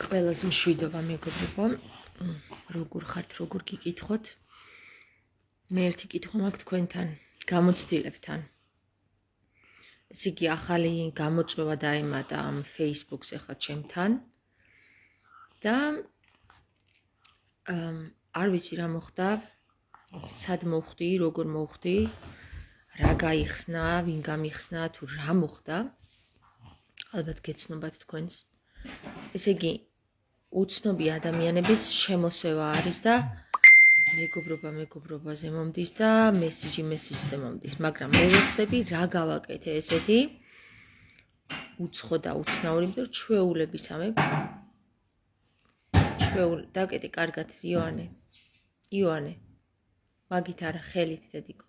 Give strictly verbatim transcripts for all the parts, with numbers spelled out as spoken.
Ყველას მშვიდობა მეგობრებო, როგორ ხართ, როგორ გიკითხოთ. მე ერთი კითხვა მაქვს თქვენთან, გამოცდილებთან. ესე იგი, ახალი გამოწვევა დაემატა ამ Facebook-ს ახლა ჩემთან და არ ვიცი რა მოხდა, სად მოვხდი, როგორ მოვხდი, რა გაიხსნა, ვინ გამიხსნა, თუ რა მოხდა. ალბათ გეცნობათ თქვენს. ესე იგი, უცნობი ადამიანების შემოსევა არის და მეგობრობა მეგობრობაზე მომდის და მესიჯი მესიჯზე მომდის, მაგრამ მე ვხვდები რა გავაკეთე ესეთი უცხო და უცნაური, იმიტომ რომ ჩვეულებისამე ჩვეულ დაკეტე კარგად იოანე იოანე მაგით არა ხელით დედიკო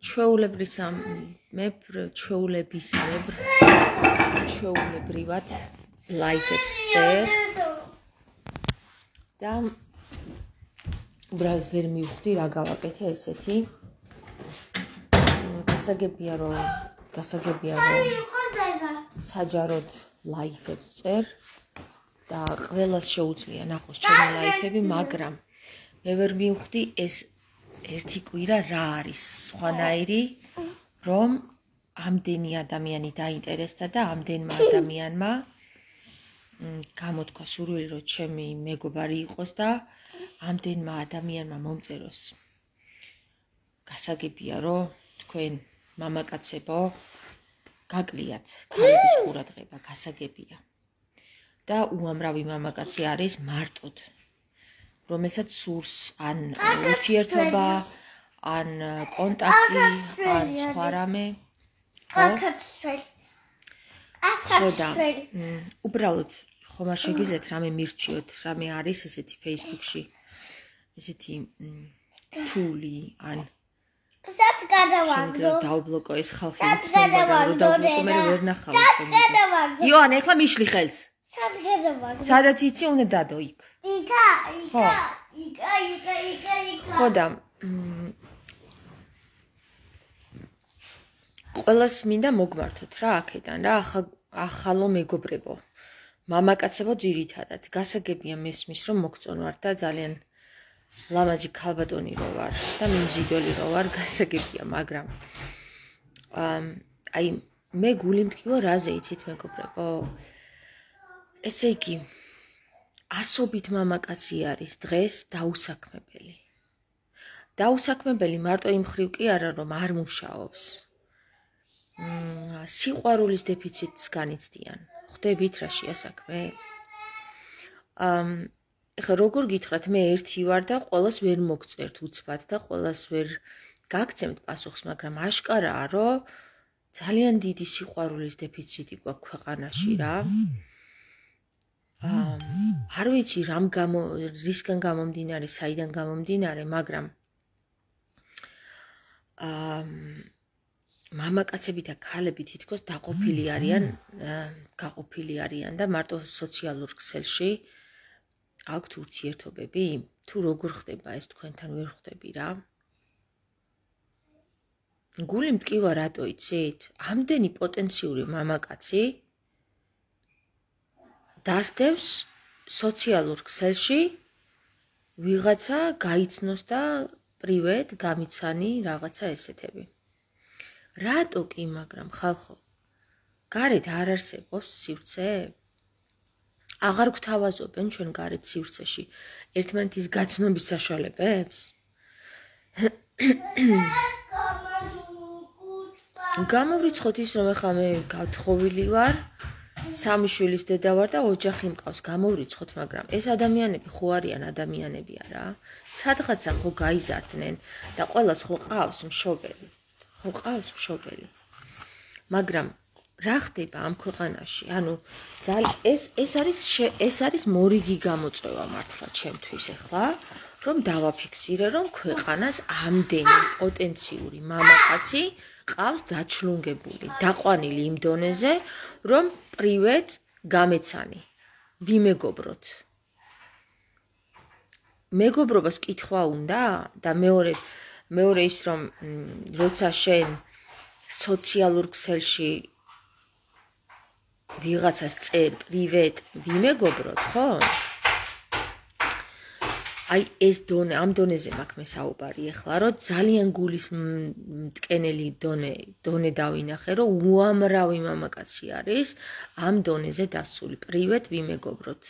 ჩვეულებრისამე ჩვეულებისამებრ ჩვეულებრივად ლაიქებს წერ და უბრალოდ ვერ მივხვდი რა გავაკეთე ესეთი. გასაგებია რომ გასაგებია რომ საჯაროდ ლაიქებს წერ და ყველას შეუძლია ნახოს ჩემი ლაიქები, მაგრამ მე ვერ მივხვდი ეს ერთი კვირა რა არის სხვანაირი, რომ ამდენი ადამიანი დაინტერესდა და ამდენმა ადამიანმა გამოთქვა სურვილი რომ ჩემი მეგობარი იყოს და ამდენმა ადამიანმა მომწეროს. გასაგებია რომ თქვენ მამაკაცებო გაკლიათ ქალების ყურადღება, გასაგებია. და უამრავი მამაკაცი არის მარტოდ, რომელსაც სურს ან ურთიერთობა, ან კონტაქტი, ან სხვა რამე. ხო და უბრალოდ ხომ არ შეგიძლიათ რამე მირჩიოთ, რამე არის ესეთი Facebook-ში, ესეთი თული, ან სად გადავაგდო? შეიძლება დავბლოკო ეს ხალხი, უცნობა რომ დავბლოკო, მე ვერ ნახავ ჩემს. იოანე, ეხლა მიშლი ხელს. სად გადავაგდო? სადაც იცი, უნდა დადო იქ. იქა, იქა, იქა, იქა, იქა, იქა. ხო და ყველას მინდა მოგმართოთ რა აქედან რა, ახალო მეგობრებო. მამაკაცებო ძირითადად, გასაგებია მესმის რომ მოგწონვარ და ძალიან ლამაზი ქალბატონი რო ვარ და მიმზიდველი რო ვარ, გასაგებია, მაგრამ აი მე გული მткиვა რაზე იცით მეგობრებო? ესე იგი, ასობით მამაკაცი არის დღეს დაუსაქმებელი. დაუსაქმებელი მარტო იმ ხრივ კი არა, რომ არ მუშაობს. სიყვარულის დეფიციტს განიცდიან. ხვდებით რა შეასაქმე? ეხლა როგორ გითხრათ, მე ერთი ვარ და ყველას ვერ მოგწერთ უცბად და ყველას ვერ გაგცემთ პასუხს, მაგრამ აშკარაა, რომ ძალიან დიდი სიყვარულის დეფიციტი გვაქვს ქვეყანაში რა. არ ვიცი რამ გამო რისგან გამომდინარე, საიდან გამომდინარე, მაგრამ მამაკაცები და ქალები თითქოს დაყოფილი არიან, გაყოფილი არიან და მარტო სოციალურ ქსელში აქვთ ურთიერთობები? თუ როგორ ხდება ეს თქვენთან ვერ ხვდები რა? გული მткиვა რატო იცით? ამდენი პოტენციური მამაკაცი დასდევს სოციალურ ქსელში ვიღაცა გაიცნოს და პრივეტ გამიცანი რაღაცა ესეთები. რატო კი, მაგრამ ხალხო, გარეთ არ არსებობს სივრცე? აღარ გვთავაზობენ ჩვენ გარეთ სივრცეში ერთმანეთის გაცნობის საშუალებებს? გამოვრიცხოთ ის, რომ ახლა მე გათხოვილი ვარ, სამი შვილის დედა ვარ და ოჯახი მყავს, გამოვრიცხოთ, მაგრამ ეს ადამიანები ხო არიან ადამიანები არა? სადღაცა ხო გაიზარდნენ და ყველას ხო ყავს მშობელი? ხო ყავს მშობელი? მაგრამ რა ხდება ამ ქვეყანაში? ანუ ეს ეს არის ეს არის მორიგი გამოწვევა მართლა ჩემთვის ახლა, რომ დავაფიქსირე, რომ ქვეყანას ამდენი პოტენციური მამაკაცი ყავს დაჩლუნგებული, დაყვანილი იმ დონეზე, რომ პრივეტ გამეცანი, ვიმეგობროთ. მეგობრობას კითხვა უნდა და მეორე მეორე ის რომ როცა შენ სოციალურ ქსელში ვიღაცას წერ პრივეტ ვიმეგობროთ, ხო? აი ეს დონე, ამ დონეზე მაქვს მე საუბარი ახლა, რომ ძალიან გულის მტკენელი დონე, დონე დავინახე, რომ უამრავი მამაკაცი არის ამ დონეზე დასული. პრივეტ ვიმეგობროთ.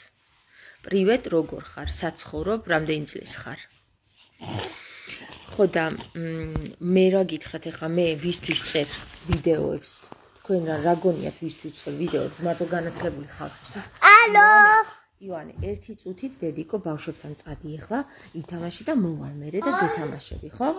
პრივეტ როგორ ხარ? საცხოვრობ, რამდენი წლის ხარ? ხო და მე რა გითხრათ ახლა მე ვისთვის წერ ვიდეოებს? თქვენ რა გონიათ ვისთვის წერ ვიდეოებს? მარტო განათლებული ხალხისთვის. ალო ივანე, ერთი წუთით დედიკო ბავშვებთან წადი ახლა, ითამაში და მოვალ მერე და გეთამაშები, ხო?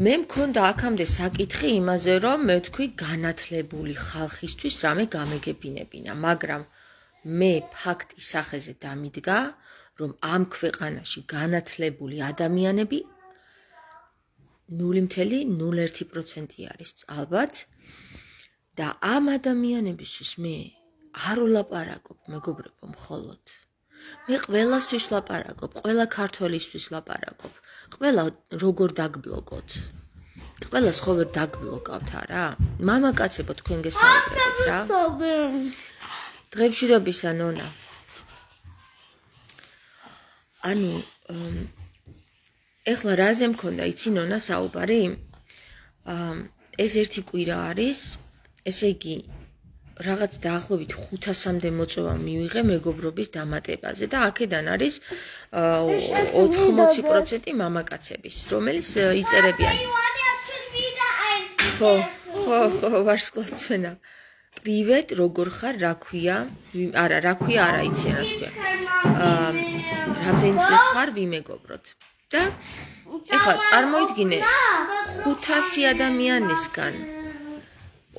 მე მქონდა აქამდე საკითხი იმაზე, რომ მე ვთქვი განათლებული ხალხისთვის რამე გამეგებინებინა, მაგრამ მე ფაქტი სახეზე დამიდგა, რომ ამ ქვეყანაში განათლებული ადამიანები ნული მცდელო ნული ერთი პროცენტი არის ალბათ. და ამ ადამიანებისთვის მე არ ვლაპარაკობ მეგობრებო მხოლოდ. მე ყველასთვის ლაპარაკობ, ყველა ქართველისთვის ლაპარაკობ. ყველა როგორ დაგბლოკოთ? ყველას ხო ვერ დაგბლოკავთ არა? მამაკაცებო თქვენ გესაუბრებთ რა? დღემშვიდობისა ნონა. ანუ ეხლა რაზე მქონდა იცი ნონა საუბარი? ეს ერთი კვირა არის ესე იგი რაღაც დაახლოებით ხუთასამდე მოწვევა მივიღე მეგობრობის დამატებაზე და აქედან არის ოთხმოცი პროცენტი მამაკაცების, რომელიც იწერებიან. ხო, ხო, ხო, ვარსკვლავთვენა. პრივეტ, როგორ ხარ, რა ქვია? არა, რა ქვია, არა იციან რას ქვია. რამდენი წლის ხარ, ვიმეგობროთ. და ეხლა წარმოიდგინე ხუთასი ადამიანისგან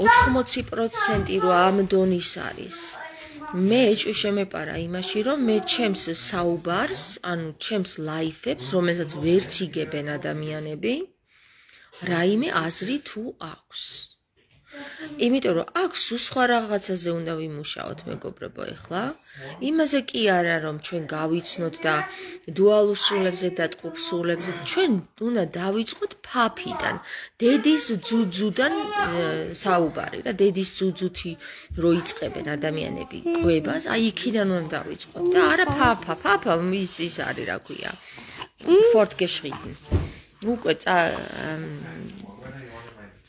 ოთხმოცი პროცენტი რო ამ დონის არის. მე ეჭვი შემეპარა იმაში, რომ მე ჩემს საუბარს, ანუ ჩემს ლაიფებს, რომელსაც ვერც იგებენ ადამიანები, რაიმე აზრი თუ აქვს. იმიტომ რომ აქ სულ სხვა რაღაცაზე უნდა ვიმუშაოთ მეგობრებო ეხლა. იმაზე კი არა რომ ჩვენ გავიცნოთ და დუალურ სულებზე და ტყუპ სულებზე, ჩვენ უნდა დავიწყოთ ფაფიდან, დედის ძუძუდან საუბარი რა, დედის ძუძუთი რო იწყებენ ადამიანები კვებას, აი იქიდან უნდა დავიწყოთ და არა ფაფა, ფაფა ის ის არის რა ქვია. fortgeschritten. უკვე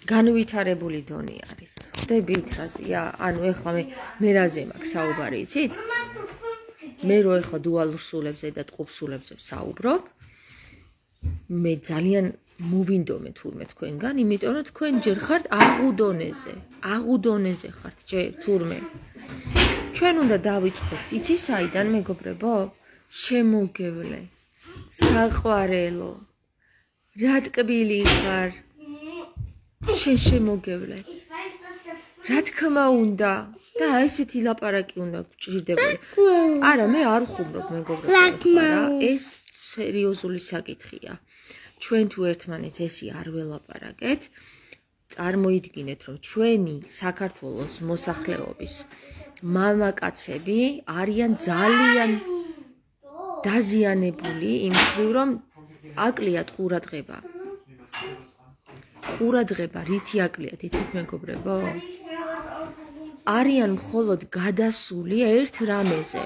განვითარებული დონე არის. ხდებით რაზეა? ანუ ეხლა მე მე რაზე მაქვს საუბარი, იცით? მე რო ეხლა დუალურ სულებზე და ტყუპ სულებზე ვსაუბრობ, მე ძალიან მოვინდომე თურმე თქვენგან, იმიტომ რომ თქვენ ჯერ ხართ აღუდონეზე, აღუდონეზე ხართ ჯერ თურმე. ჩვენ უნდა დავიწყოთ, იცი საიდან მეგობრებო? შემოგევლე, საყვარელო, რა ტკბილი ხარ? შენ შემოგევლე. რა თქმა უნდა და ესეთი ლაპარაკი უნდა გჭირდებოდა. არა, მე არ ხუმრობ მეგობრებო, რა, ეს სერიოზული საკითხია. ჩვენ თუ ერთმანეთს ესი არ ველაპარაკეთ, წარმოიდგინეთ, რომ ჩვენი საქართველოს მოსახლეობის მამაკაცები არიან ძალიან დაზიანებული იმ მხრივ, რომ აკლიათ ყურადღება. ყურადღება რითი აკლიათ, იცით მეგობრებო? არიან მხოლოდ გადასული ერთ რამეზე.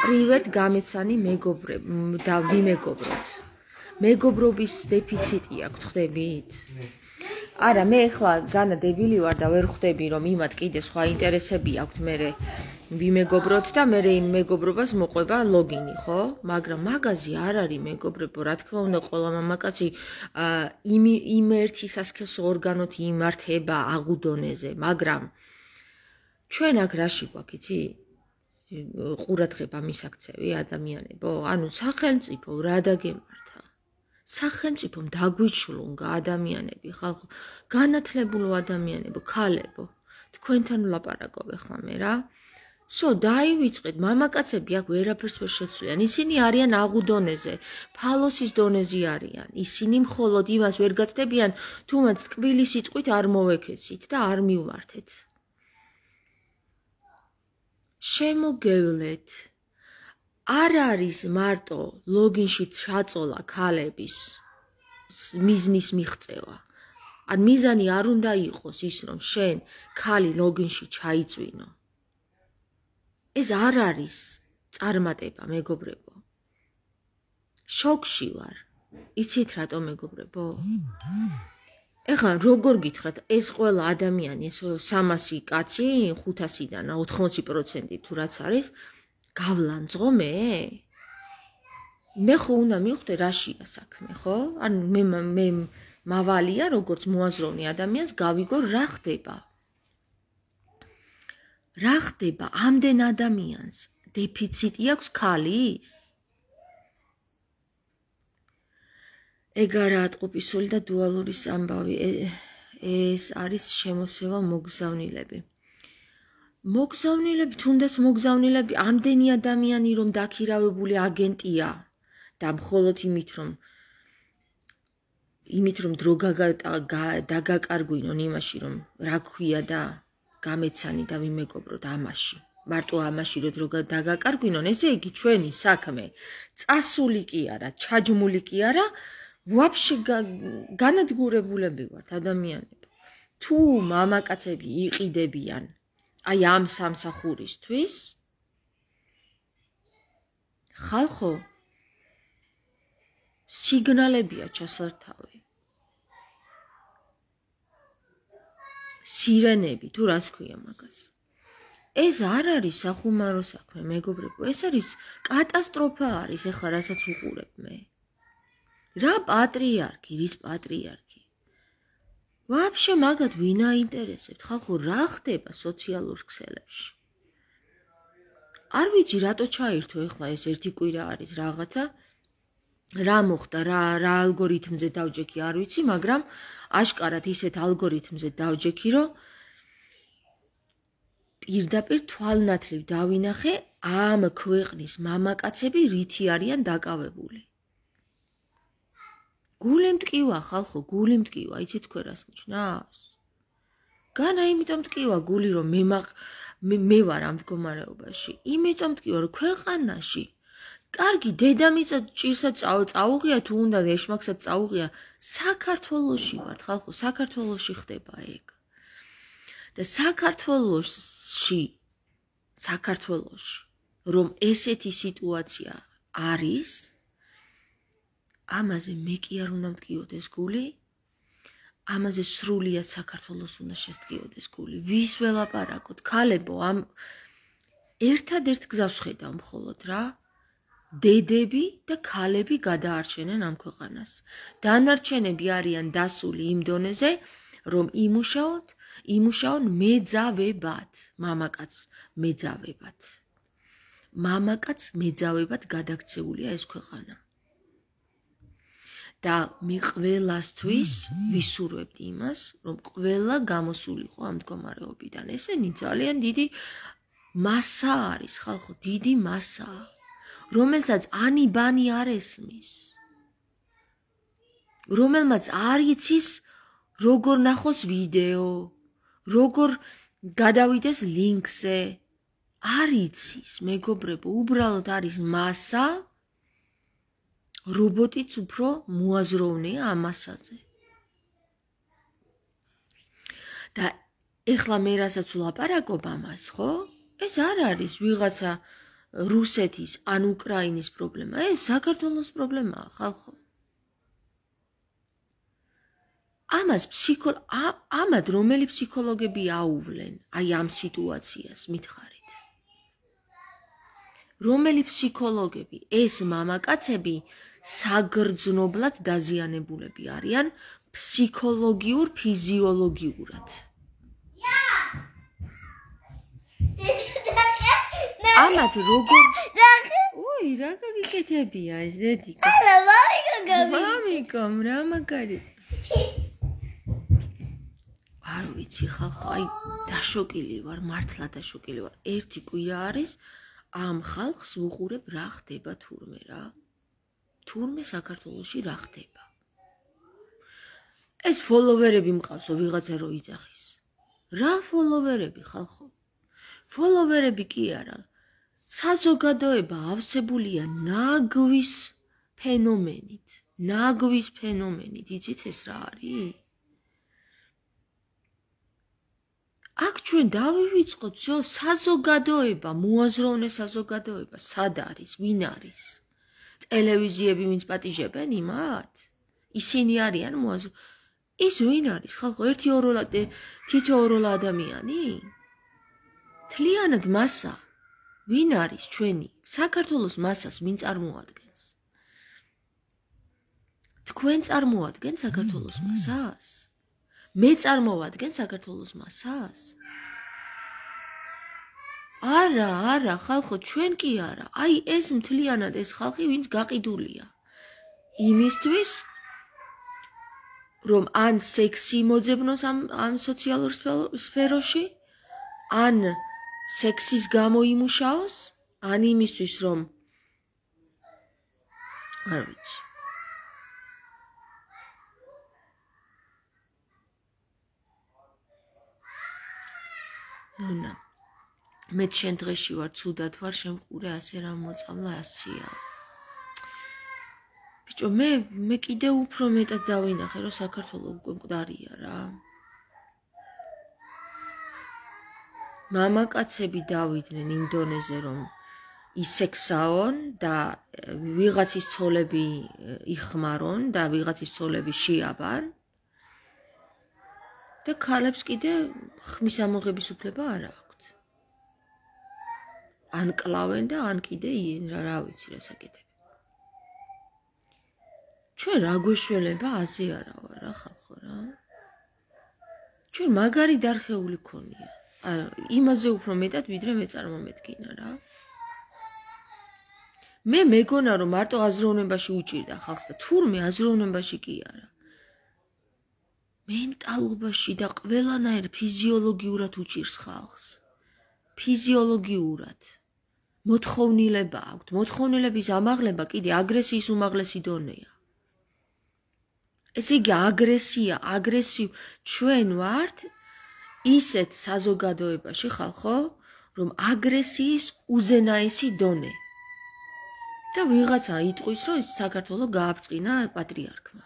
პრივეტ გამეცანი მეგობრებ და ვიმეგობროთ. მეგობრობის დეფიციტი აქვს, ხვდებით? არა, მე ახლა განა დებილი ვარ და ვერ ხვდები, რომ იმათ კიდე სხვა ინტერესები აქვს მერე ვიმეგობროთ და მერე იმ მეგობრობას მოყვება ლოგინი, ხო? მაგრამ მაგაზი არ არის მეგობრებო, რა თქმა უნდა, ყველა მამაკაცი იმ იმ ერთი სასქესო ორგანოთი იმართება აღუდონეზე, მაგრამ ჩვენ აქ რაში გვაქვს, იცი? ყურადღება მისაქცევი ადამიანებო, ანუ სახელმწიფო რა დაგემართა? სახელმწიფომ დაგვიჩლუნ ადამიანები, ხალხო, განათლებულო ადამიანებო, ქალებო, თქვენთან ვლაპარაკობ ახლა მე რა. სო დაივიწყეთ, მამაკაცები აქ ვერაფერს ვერ შეცვლიან. ისინი არიან აღუდონეზე, ფალოსის დონეზე არიან. ისინი მხოლოდ იმას ვერ გაცდებიან, თუ მათ ტკბილი სიტყვით არ მოვეკეცით და არ მივმართეთ. შემოგევლეთ. არ არის მარტო ლოგინში ჩაწოლა ქალების მიზნის მიღწევა. ან მიზანი არ უნდა იყოს ის, რომ შენ ქალი ლოგინში ჩაიწვინო. ეს არ არის წარმატება, მეგობრებო. შოკში ვარ. იცით რატომ, მეგობრებო? ეხლა როგორ გითხრათ, ეს ყველა ადამიანი, ეს სამასი კაცი, ხუთასიდან ოთხმოცი პროცენტი თუ რაც არის, გავლანძღო მე? მე ხო უნდა მივხვდე რაშია საქმე, ხო? ან მე მე მავალია, როგორც მოაზროვნე ადამიანს, გავიგო რა ხდება. რა ხდება ამდენ ადამიანს? დეფიციტი აქვს ქალის? ეგ არა ატყუპისული და დუალური ამბავი. ეს არის შემოსევა მოგზავნილები. მოგზავნილები, თუნდაც მოგზავნილები, ამდენი ადამიანი რომ დაქირავებული აგენტია და მხოლოდ იმით რომ იმით რომ დრო დაგაკარგვინონ იმაში რომ რა ქვია და გამეცანი და ვიმეგობროთ ამაში. მარტო ამაში რომ დრო დაგაკარგვინონ, ესე იგი ჩვენი საქმე წასული კი არა, ჩაჯმული კი არა, ვაფშე განადგურებულები ვართ ადამიანები. თუ მამაკაცები იყიდებიან აი ამ სამსახურისთვის, ხალხო, სიგნალებია ჩასართავი. სირენები, თუ რას ქვია მაგას. ეს არ არის სახუმარო საქმე, მეგობრებო, ეს არის კატასტროფა არის, ეხლა რასაც უყურებ მე. რა პატრიარქი, რის პატრიარქი? ვაფშე მაგათ ვინ აინტერესებთ? ხალხო, რა ხდება სოციალურ ქსელებში? არ ვიცი რატო ჩაირთო ეხლა ეს ერთი კვირა არის რაღაცა. რა მოხდა, რა რა ალგორითმზე დავჯექი, არ ვიცი, მაგრამ აშკარად ისეთ ალგორითმზე დავჯექი, რომ პირდაპირ თვალნათლივ დავინახე ამ ქვეყნის მამაკაცები რითი არიან დაკავებული. გული მტკივა, ხალხო, გული მტკივა, იცით თქვენ რას ნიშნავს? განა იმიტომ მტკივა გული, რომ მე მე ვარ ამ მდგომარეობაში. იმიტომ მტკივა, რომ ქვეყანაში კარგი დედამიწა ჭირსაც წაუღია, თუ უნდა ეშმაკსაც წაუღია, საქართველოში ვართ, ხალხო, საქართველოში ხდება ეგ. და საქართველოში, საქართველოში, რომ ესეთი სიტუაცია არის, ამაზე მე კი არ უნდა მტკიოდეს გული, ამაზე სრულიად საქართველოს უნდა შესტკიოდეს გული. ვის ველაპარაკოთ, ქალებო, ამ ერთადერთ გზას ვხედავ მხოლოდ რა, დედები და ქალები გადაარჩენენ ამ ქვეყანას. დანარჩენები არიან დასული იმ დონეზე, რომ იმუშაოთ, იმუშაონ მეძავებად, მამაკაც მეძავებად. მამაკაც მეძავებად გადაქცეულია ეს ქვეყანა. და მე ყველასთვის ვისურვებთ იმას, რომ ყველა გამოსულიყო ამ მდგომარეობიდან. ესენი ძალიან დიდი მასა არის, ხალხო, დიდი მასა, რომელსაც ანი-ბანი არ ესმის. რომელმაც არ იცის, როგორ ნახოს ვიდეო, როგორ გადავიდეს ლინკზე. არ იცის, მეგობრებო, უბრალოდ არის მასა, რობოტიც უფრო მოაზროვნეა ამ მასაზე. და ეხლა მე რასაც ვლაპარაკობ ამას, ხო? ეს არ არის ვიღაცა რუსეთის ან უკრაინის პრობლემა, ეს საქართველოს პრობლემაა, ხალხო. ამას ფსიქო ამად რომელი ფსიქოლოგები აუვლენ აი ამ სიტუაციას მითხარით. რომელი ფსიქოლოგები, ეს მამაკაცები საგრძნობლად დაზიანებულები არიან ფსიქოლოგიურ, ფიზიოლოგიურად. ამათ როგორ ოი, რა გაგიკეთებია ეს დედიკო? არა, მამიკო გავი. მამიკო, რა მაგარი. არ ვიცი, ხალხო, აი დაშოკილი ვარ, მართლა დაშოკილი ვარ. ერთი კვირა არის ამ ხალხს ვუყურებ რა ხდება თურმე რა. თურმე საქართველოში რა ხდება. ეს ფოლოვერები მყავსო ვიღაცა რო იძახის. რა ფოლოვერები, ხალხო? ფოლოვერები კი არა. საზოგადოება ავსებულია ნაგვის ფენომენით. ნაგვის ფენომენით, იცით ეს რა არის? აქ ჩვენ დავივიწყოთ, ზო, საზოგადოება, მოაზროვნე საზოგადოება, სად არის, ვინ არის? ტელევიზიები ვინც პატიჟებენ იმათ? ისინი არიან მოაზრ. ის ვინ არის? ხალხო, ერთი ოროლა თითო ოროლა ადამიანი? თლიანად მასა ვინ არის ჩვენი? საქართველოს მასას ვინ წარმოადგენს? თქვენ წარმოადგენთ საქართველოს მასას? მე წარმოვადგენ საქართველოს მასას? არა, არა, ხალხო, ჩვენ კი არა. აი ეს მთლიანად ეს ხალხი, ვინც გაყიდულია. იმისთვის, რომ ან სექსი მოძებნოს ამ ამ სოციალურ სფეროში, ან სექსის გამო იმუშაოს, ან იმისთვის, რომ არ ვიცი. ნუნა მე შენ დღეში ვარ ცუდად ვარ შემყურე ასე რა მოწამლა ასია ბიჭო მე მე კიდე უფრო მეტად დავინახე რომ საქართველოს უკვე მკვდარია რა მამაკაცები დავიდნენ იმ დონეზე რომ ისექსაონ და ვიღაცის ცოლები იხმარონ და ვიღაცის ცოლები შეაბან და ქალებს კიდე ხმის ამოღების უფლება არ აქვთ. ან კლავენ და ან კიდე რა ვიცი რა საკეთებ. ჩვენ რა გვეშველება აზე არა ვარ რა ხალხო რა. ჩვენ მაგარი დარხეული ქონია. არა, იმაზე უფრო მეტად ვიდრე მე წარმომედგინა რა. მე მეგონა რომ მარტო აზროვნებაში უჭირდა ხალხს და თურმე აზროვნებაში კი არა. მენტალობაში და ყველანაირ ფიზიოლოგიურად უჭირს ხალხს. ფიზიოლოგიურად. მოთხოვნილება აქვთ. მოთხოვნილების ამაღლება კიდე აგრესიის უმაღლესი დონეა. ესე იგი აგრესია, აგრესიო ჩვენ ვართ ისეთ საზოგადოებაში ხალხო, რომ აგრესიის უზენაესი დონე. და ვიღაცა იტყვის, რომ საქართველოს გააბწყინა პატრიარქმა.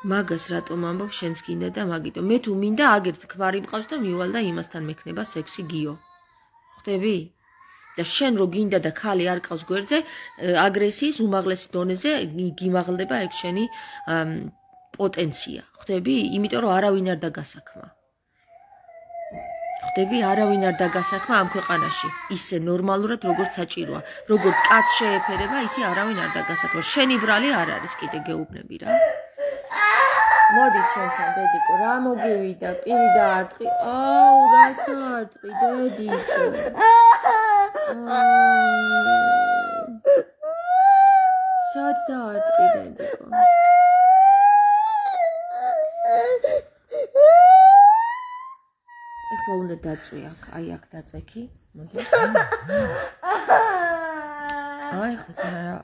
მაგას რატომ ამბობ შენს გინდა და მაგიტო მე თუ მინდა აგერთ ქმარი მყავს და მივალ და იმასთან მექნება სექსი გიო ხვდები და შენ რო გინდა და ქალი არ ყავს გვერდზე აგრესიის უმაღლესი დონეზე გიმაღლდება ეგ შენი პოტენცია ხვდები იმიტომ რომ არავინ არ დაგასაქმა ხვდები არავინ არ დაგასაქმა ამ ქვეყანაში ისე ნორმალურად როგორც საჭიროა როგორც კაცს შეეფერება ისე არავინ არ დაგასაქმა შენი ბრალი არ არის კიდე გეუბნები რა მოდი ჩვენთან დედიკო რა მოგივიდა პირი დაარტყი აუ რა საარტყი დედიკო სად დაარტყი დედიკო ეხლა უნდა დაწვი აქ აი აქ დაწექი მოდი აი ხა რა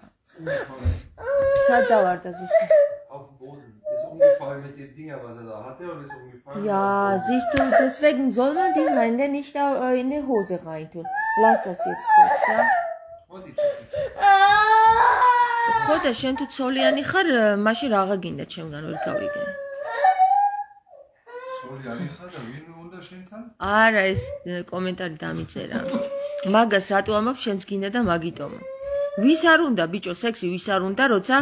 სად დავარდა ზუსტად auf dem Boden. Ist umgefallen mit dem Ding, was er da hatte und ist umgefallen. Ja, siehst du, deswegen soll man die Hände nicht in die Hose reintun. Lass das jetzt kurz, ja? ხოდა შენ თუ ცოლიანი ხარ, მაშინ რაღა გინდა ჩემგან ვერ გავიგე. ცოლიანი ხარ და ვინ უნდა შენთან? არა, ეს კომენტარი დამიწერა. მაგას რატო ამბობ შენს გინდა და მაგიტომ. ვის არ უნდა ბიჭო სექსი ვის არ უნდა როცა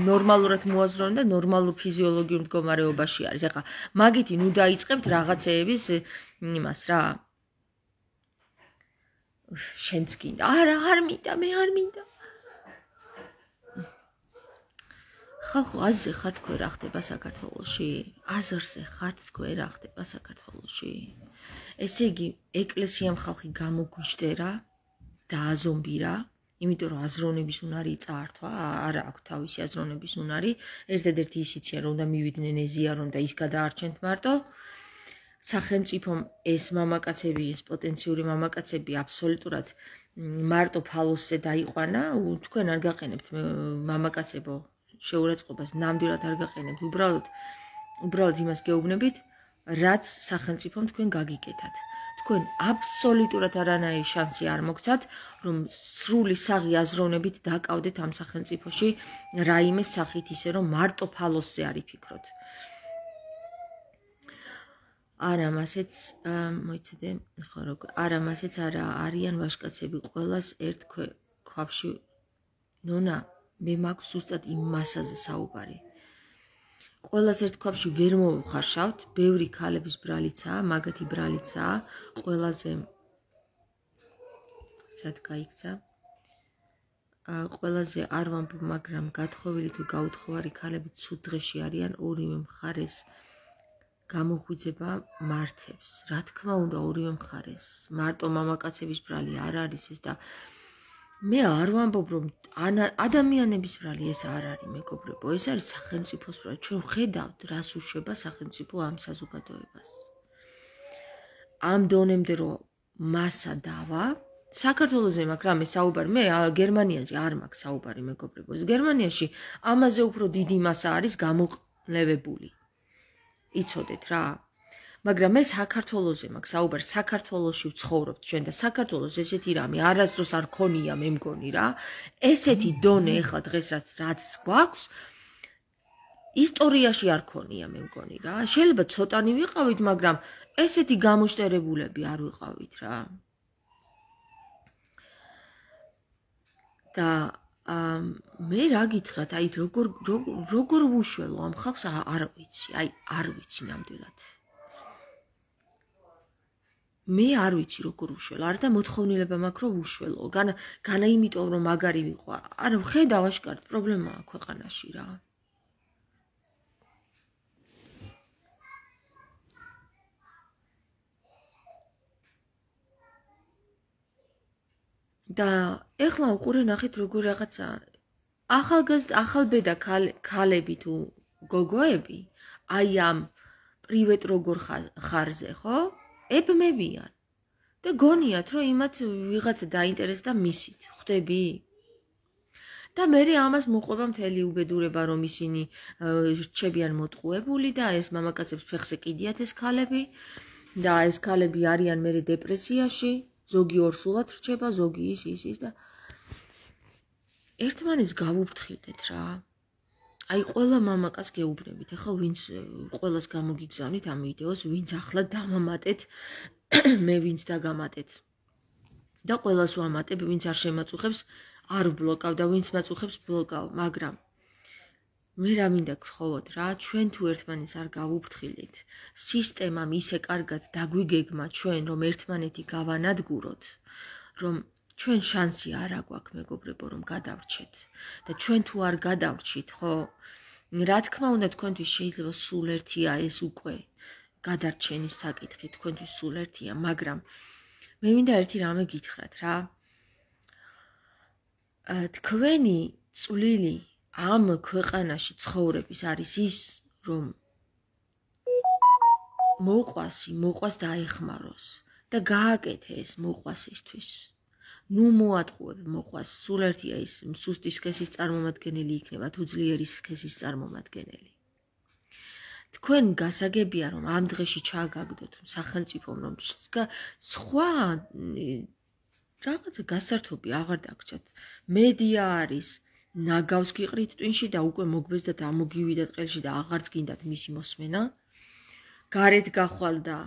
ნორმალურად მოაზროვნე და ნორმალურ ფიზიოლოგიურ მდგომარეობაში არის ახლა მაგითი ნუ დაიწყებთ რაღაცეების იმას რა შენც გინდა არა არ მინდა მე არ მინდა ხალხო აზრზე ხარ თქვენ რა ხდება საქართველოში აზრზე ხარ თქვენ რა ხდება საქართველოში ესე იგი ეკლესიამ ხალხი გამოგვიჯდერა და აზომბირა იმიტომ რომ აზროვნების უნარი წაართვა, არ აქვს თავისი აზროვნების უნარი, ერთადერთი ისიცია რომ უნდა მივიდნენ ეზიარონ და ის გადაარჩენთ მარტო. სახელმწიფომ ეს მამაკაცები, ეს პოტენციური მამაკაცები აბსოლუტურად მარტო ფალოსზე დაიყვანა, თქვენ არ გაყენებთ მამაკაცებო შეურაცხყოფას, ნამდვილად არ გაყენებთ, უბრალოდ უბრალოდ იმას გეუბნებით, რაც სახელმწიფომ თქვენ გაგიკეთათ. თქვენ აბსოლუტურად არანაირი შანსი არ მოგცათ, რომ სრული საღი აზროვნებით დაკავდეთ ამ სახელმწიფოში რაიმე სახით ისე, რომ მარტო ფალოსზე არ იფიქროთ. არა, მასეც მოიცადე, ხო როგორ, არა, მასეც არა არიან ვაჟკაცები ყველას ერთ ქვაბში. ნონა, მე მაქვს ზუსტად იმ მასაზე საუბარი. ყველას ერთ ქვაბში ვერ მოვხარშავთ, ბევრი ქალების ბრალიცაა, მაგათი ბრალიცაა, ყველაზე სად გაიქცა? ყველაზე არ ვამბობ, მაგრამ გათხოვილი თუ გაუთხოვარი ქალები ცუდ დღეში არიან, ორივე მხარეს გამოხვიძება მართებს. რა თქმა უნდა, ორივე მხარეს. მარტო მამაკაცების ბრალი არ არის ეს და მე არ ვამბობ, რომ ადამიანების ბრალი ეს არ არის, მეგობრებო, ეს არის სახელმწიფოს ბრალი. ჩვენ ვხედავთ, რას უშვება სახელმწიფო ამ საზოგადოებას. ამ დონემდე რომ მასა დავა, საქართველოზე მაქვს რამე საუბარი, მე გერმანიაზე არ მაქვს საუბარი, მეგობრებო. გერმანიაში ამაზე უფრო დიდი მასა არის გამოყლევებული. იცოდეთ რა. მაგრამ მე საქართველოზე მაქვს საუბარი, საქართველოში ვცხოვრობთ ჩვენ და საქართველოს ესეთი რამე არასდროს არ ქონია, მე მგონი რა. ესეთი დონე ეხლა დღესაც რაც გვაქვს, ისტორიაში არ ქონია, მე მგონი რა. შეიძლება ცოტანი ვიყავით, მაგრამ ესეთი გამოშტერებულები არ ვიყავით რა. და მე რა გითხრათ, აი როგორ როგორ ვუშველო ამ ხალხს არ ვიცი, აი არ ვიცი ნამდვილად. მე არ ვიცი როგორ უშველო, არ და მოთხოვნილება მაქვს რომ უშველო. განა განა იმიტომ რომ მაგარი ვიყო. არა, ხედავ აშკარად პრობლემაა ქვეყანაში რა. და ეხლა უყურე ნახეთ როგორ რაღაცა ახალგაზრდა ახალბედა ქალები თუ გოგოები აი ამ პრივატ როგორ ხარზე, ხო? ებმებიან და გონიათ რომ იმათ ვიღაცა დაინტერესდა მისით, ხვდები? და მე ამას მოყვება მთელი უბედურება რომ ისინი რჩებიან მოტყუებული და ეს მამაკაცებს ფეხზე კიდიათ ეს ქალები და ეს ქალები არიან მე დეპრესიაში, ზოგი ორსულად რჩება, ზოგი ის ის ის და ერთმანეთს გავუფრთხილდეთ რა. აი ყველა მამაკაც გეუბნებით, ახლა ვინც ყველას გამოგიგზავნით ამ ვიდეოს, ვინც ახლა დამამატეთ, მე ვინც დაგამატეთ. და ყველას ვამატებ, ვინც არ შემაწუხებს, არ ვბლოკავ და ვინც მაწუხებს ბლოკავ, მაგრამ მე რა მინდა გთხოვოთ რა, ჩვენ თუ ერთმანეთს არ გავუფრთხილდით, სისტემამ ისე კარგად დაგვიგეგმა ჩვენ, რომ ერთმანეთი გავანადგუროთ, რომ ჩვენ შანსი არ აგვაქვს, მეგობრებო, რომ გადავრჩეთ. და ჩვენ თუ არ გადავრჩით, ხო, რა თქმა უნდა თქვენთვის შეიძლება სულ ერთია ეს უკვე გადარჩენის საკითხი, თქვენთვის სულ ერთია, მაგრამ მე მინდა ერთი რამე გითხრათ რა. თქვენი წვლილი ამ ქვეყანაში ცხოვრების არის ის, რომ მოყვასი, მოყვას დაეხმაროს და გააკეთე ეს მოყვასისთვის. ნუ მოატყუებ მოყვას, სულ ერთია ის სუსტი სქესის წარმომადგენელი იქნება თუ ძლიერი სქესის წარმომადგენელი. თქვენ გასაგებია რომ ამ დღეში ჩააგაგდოთ სახელმწიფომ რომ სხვა რაღაცა გასართობი აღარ დაგჭათ. მედია არის ნაგავს გიყრით ტვინში და უკვე მოგბეს და დამოგივიდათ ყელში და აღარც გინდათ მისი მოსმენა. გარეთ გახვალ და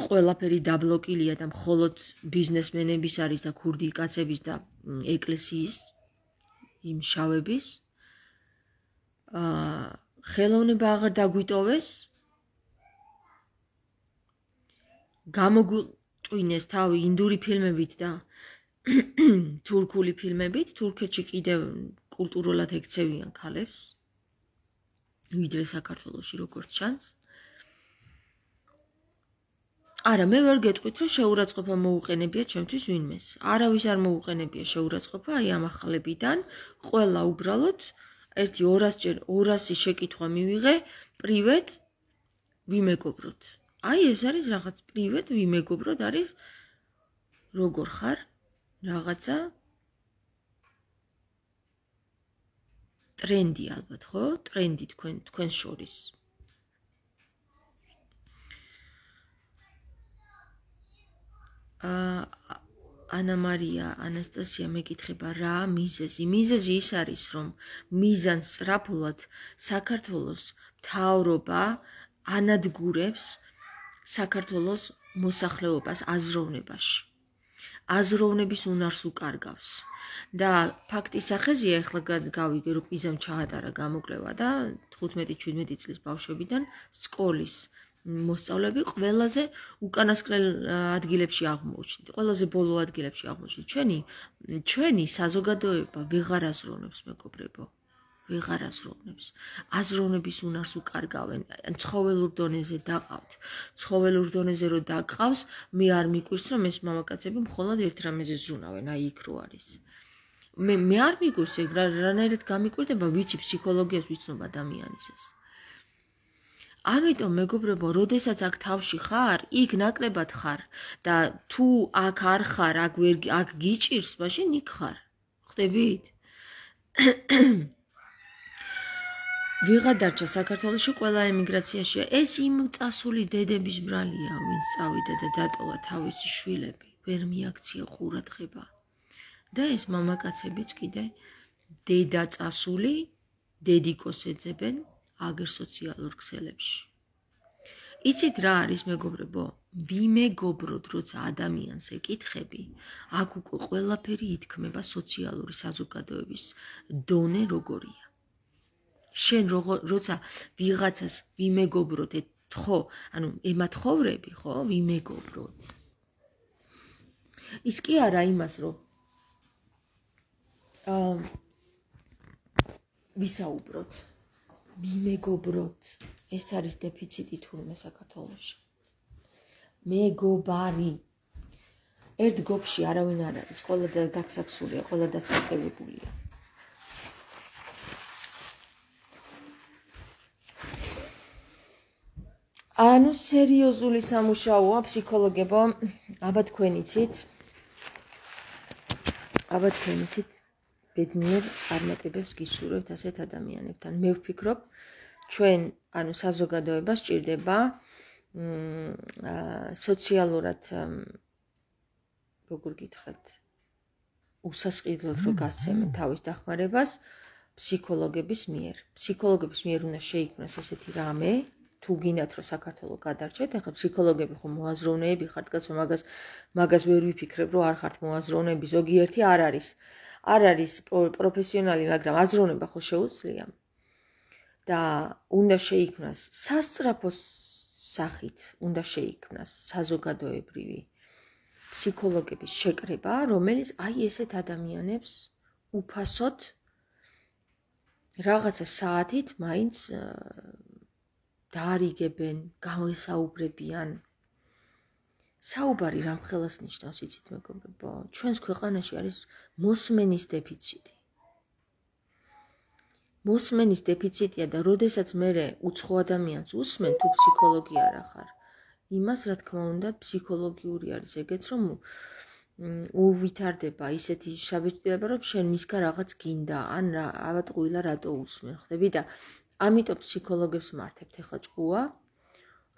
ყველაფერი დაბლოკილია და მხოლოდ ბიზნესმენების არის და ქურდი კაცების და ეკლესიის იმ შავების. აა ხელოვნება აღარ დაგვიტოვეს. გამოგვტვინეს თავი ინდური ფილმებით და თურქული ფილმებით. თურქეთში კიდევ კულტურულად ექცევიან ქალებს, ვიდრე საქართველოში როგორც ჩანს. არა, მე ვერ გეტყვით, რომ შეურაცხყოფა მოუყენებია ჩემთვის ვინმეს. არავის არ მოუყენებია შეურაცხყოფა აი ამ ახალებიდან. ყველა უბრალოდ ერთი ორასჯერ ორასი შეკითხვა მივიღე, პრივატ ვიმეგობროთ. აი ეს არის რაღაც პრივატ ვიმეგობროთ არის როგორ ხარ? რაღაცა ტრენდი ალბათ, ხო? ტრენდი თქვენ თქვენს შორის. ანა მარია ანასტასია მეკითხება რა მიზეზი მიზეზი ის არის რომ მიზანს სწრაფულად საქართველოს მთავრობა ანადგურებს საქართველოს მოსახლეობას აზროვნებაში აზროვნების უნარს უკარგავს და ფაქტის სახეზია ახლა გავიგე რომ პიზამ ჩაატარა გამოკვლევა და თხუთმეტი შვიდმეტი წლის ბავშვებიდან სკოლის მოსწავლეები ყველაზე უკანასკნელ ადგილებში აღმოჩნდით. ყველაზე ბოლო ადგილებში აღმოჩნდით. ჩვენი ჩვენი საზოგადოება ვეღარ აზროვნებს მეგობრებო. ვეღარ აზროვნებს. აზროვნების უნარს უკარგავენ. ცხოველურ დონეზე დაყავთ. ცხოველურ დონეზე რო დაგყავს, მე არ მიკვირს რომ ეს მამაკაცები მხოლოდ ერთ რამეზე ზრუნავენ, აი იქ რო არის. მე მე არ მიკვირს ეგ რანაირად გამიკვირდება, ვიცი ფსიქოლოგიას ვიცნობ ადამიანის ეს. ამიტომ მეგობრებო, როდესაც აქ თავში ხარ, იქ ნაკლებად ხარ და თუ აქ არ ხარ, აქ ვერ აქ გიჭირს, მაშინ იქ ხარ. ხვდებით? ვიღა დარჩა საქართველოში, ყველა ემიგრაციაშია. ეს იმ წასული დედების ბრალია, ვინც წავიდა და დატოვა თავისი შვილები, ვერ მიაქცია ყურადღება. და ეს მამაკაცებიც კიდე დედა წასული, დედიკოს ეძებენ აგერ სოციალურ ქსელებში. იცით რა არის მეგობრებო? ვიმეგობროთ, როცა ადამიანს ეკითხები, აქ უკვე ყველაფერი ითქმება სოციალური საზოგადოების დონე როგორია. შენ როცა ვიღაცას ვიმეგობროთ, ხო, ანუ ემათხოვრები, ხო, ვიმეგობროთ. ის კი არა იმას, რომ აა ვისაუბროთ. ვიმეგობროთ. ეს არის დეფიციტი თურმე საქართველოში. მეგობარი. ერთ გოფში არავინ არ არის, ყველა დაგსაქსულია, ყველა დაცალკევებულია. ანუ სერიოზული სამუშაოა ფსიქოლოგებო, აბა თქვენ იცით. აბა თქვენ იცით. ბედნიერ წარმატებებს გისურვებთ ასეთ ადამიანებთან. მე ვფიქრობ, ჩვენ, ანუ საზოგადოებას სჭირდება სოციალურად როგორ გითხრათ, უსასყიდლოდ რო გასცემენ თავის დახმარებას ფსიქოლოგების მიერ. ფსიქოლოგების მიერ უნდა შეიქმნას ესეთი რამე, თუ გინდათ რომ საქართველო გადარჩეთ, ახლა ფსიქოლოგები ხო მოაზროვნეები ხართ, კაცო, მაგას მაგას ვერ ვიფიქრებ, რომ არ ხართ მოაზროვნეები, ზოგიერთი არ არის. არ არის პროფესიონალი, მაგრამ აზროვნება ხო შეუძლია. და უნდა შეიქმნას სასწრაფო სახით, უნდა შეიქმნას საზოგადოებრივი ფსიქოლოგების შეკრება, რომელიც აი ესეთ ადამიანებს უფასოდ რაღაცა საათით მაინც დაარიგებენ, გამოსაუბრებიან. საუბარი რამ ხელას ნიშნავს, იცით მეგობრებო? ჩვენს ქვეყანაში არის მოსმენის დეფიციტი. მოსმენის დეფიციტია და როდესაც მე უცხო ადამიანს უსმენ, თუ ფსიქოლოგი არ ახარ, იმას რა თქმა უნდა ფსიქოლოგიური არის ეგეც, რომ უვითარდება ისეთი საბეჭდილება, რომ შენ მისგან რაღაც გინდა, ან რა, ავატყუილა რატო უსმენ, ხვდები და ამიტომ ფსიქოლოგებს მართებთ ახლა ჭკუა,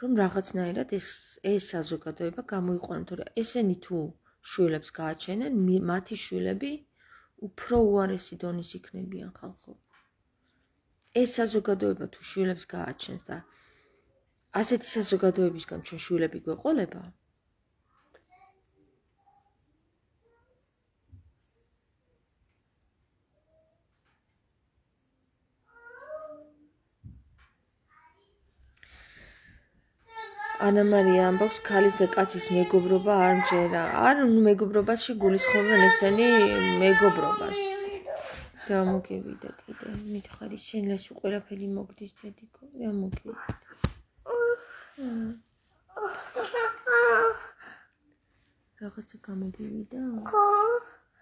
რომ რაღაცნაირად ეს ეს საზოგადოება გამოიყვანოთ, თორე ესენი თუ შვილებს გააჩენენ, მათი შვილები უფრო უარესი დონის იქნებიან ხალხო. ეს საზოგადოება თუ შვილებს გააჩენს და ასეთი საზოგადოებისგან ჩვენ შვილები გვეყოლება, ანა მარია ამბობს, ქალის და კაცის მეგობრობა არ მჯერა. არ, ნუ მეგობრობაში გულისხმობენ ესენი მეგობრობას. რა მოგივიდა კიდე, მითხარი, შენ ეს ყველაფერი მოგდის დედიკო, რა მოგივიდა. რაღაცა გამოგივიდა? ხო.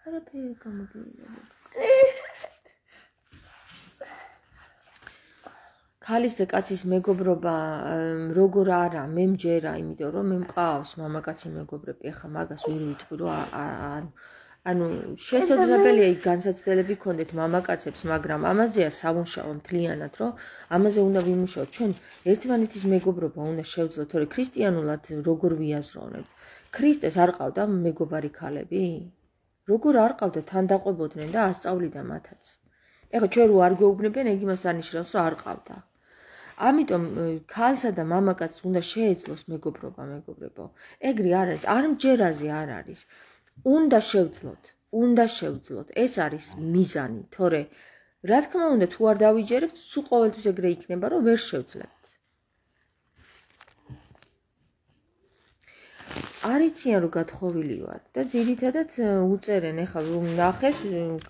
არაფერი გამოგივიდა. ქალის და კაცის მეგობრობა როგორ არა, მე მჯერა, იმიტომ რომ მე მყავს მამაკაცი მეგობრები, ახლა მაგას ვერ ვიტყვი, რომ ანუ შესაძლებელია იქ განსაცდელები გქონდეთ მამაკაცებს, მაგრამ ამაზეა სამუშაო მთლიანად, რომ ამაზე უნდა ვიმუშაოთ. ჩვენ ერთმანეთის მეგობრობა უნდა შევძლოთ, თორე ქრისტიანულად როგორ ვიაზროვნებთ. ქრისტეს არ ყავდა მეგობარი ქალები? როგორ არ ყავდა, თან დაყვებოდნენ და ასწავლიდა მათაც. ეხლა ჩვენ რო არ გვეუბნებიან, ეგ იმას არნიშნავს, რომ არ ყავდა. ამიტომ ქალსა და მამაკაცს უნდა შეეძლოს მეგობრობა, მეგობრებო. ეგრე არ არის, არ მჯერაზე არ არის. უნდა შევძლოთ, უნდა შევძლოთ. ეს არის მიზანი, თორე რა თქმა უნდა, თუ არ დავიჯერებთ, სულ ყოველთვის ეგრე იქნება, რომ ვერ შევძლებთ. არიციან რომ გათხოვილი ვარ და ძირითადად უწერენ, ეხლა რომ ნახეს,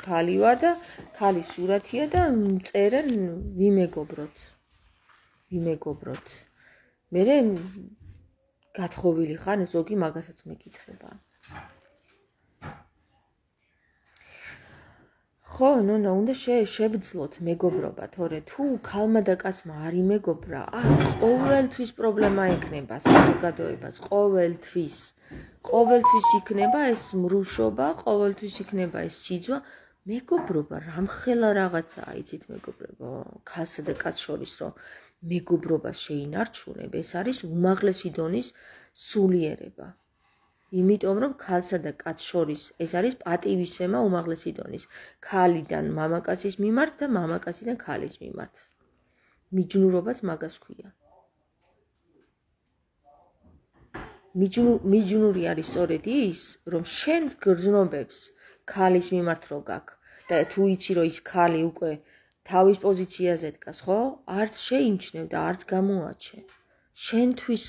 ქალი ვარ და ქალის სურათია და წერენ ვიმეგობროთ. ვიმეგობროთ. მერე გათხოვილი ხარ, ზოგი მაგასაც მეკითხება. ხო, ნუ ნუ უნდა შევძლოთ მეგობრობა, თორე თუ ქალმა და კაცმა არ იმეგობრა, ა ყოველთვის პრობლემა ექნება საზოგადოებას, ყოველთვის. ყოველთვის იქნება ეს მრუშობა, ყოველთვის იქნება ეს სიძვა, მეგობრობა, რამხელა რაღაცაა, იცით მეგობრებო, ქალსა და კაცს შორის რომ მეგობრობას შეინარჩუნებ, ეს არის უმაღლესი დონის სულიერება. იმიტომ რომ ქალსა და კაცს შორის ეს არის პატივისცემა უმაღლესი დონის. ქალიდან მამაკაცის მიმართ და მამაკაციდან ქალის მიმართ. მიჯნურობაც მაგას ქვია. მიჯნური არის სწორედ ის, რომ შენს გრძნობებს ქალის მიმართ რო გაქვს და თუ იცი რომ ის ქალი უკვე თავის პოზიციაზე დგას, ხო? არც შეიმჩნევ და არც გამოაჩენ. შენთვის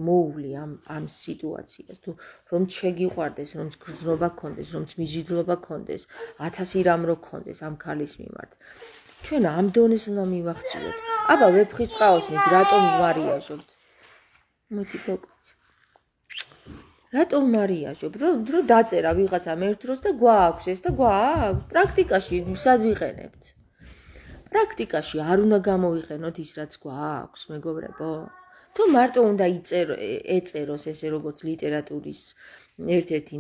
მოუვლი ამ ამ სიტუაციას, თუ რომ შეგიყვარდეს, რომ გრძნობა გქონდეს, რომ მიზიდულობა გქონდეს, ათასი რამ რო გქონდეს ამ ქალის მიმართ. ჩვენ ამ დონეს უნდა მივახციოთ. აბა ვეფხის ყაოსნით რატომ ვარიაჟობთ? მოდი გოგოც. რატომ ვარიაჟობთ? რომ დაწერა ვიღაცამ ერთ დროს და გვაქვს ეს და გვაქვს. პრაქტიკაში სად ვიყენებთ? პრაქტიკაში არ უნდა გამოვიყენოთ ის რაც გვაქვს, მეგობრებო. თუ მარტო უნდა ეწეროს ესე როგორც ლიტერატურის ერთ-ერთი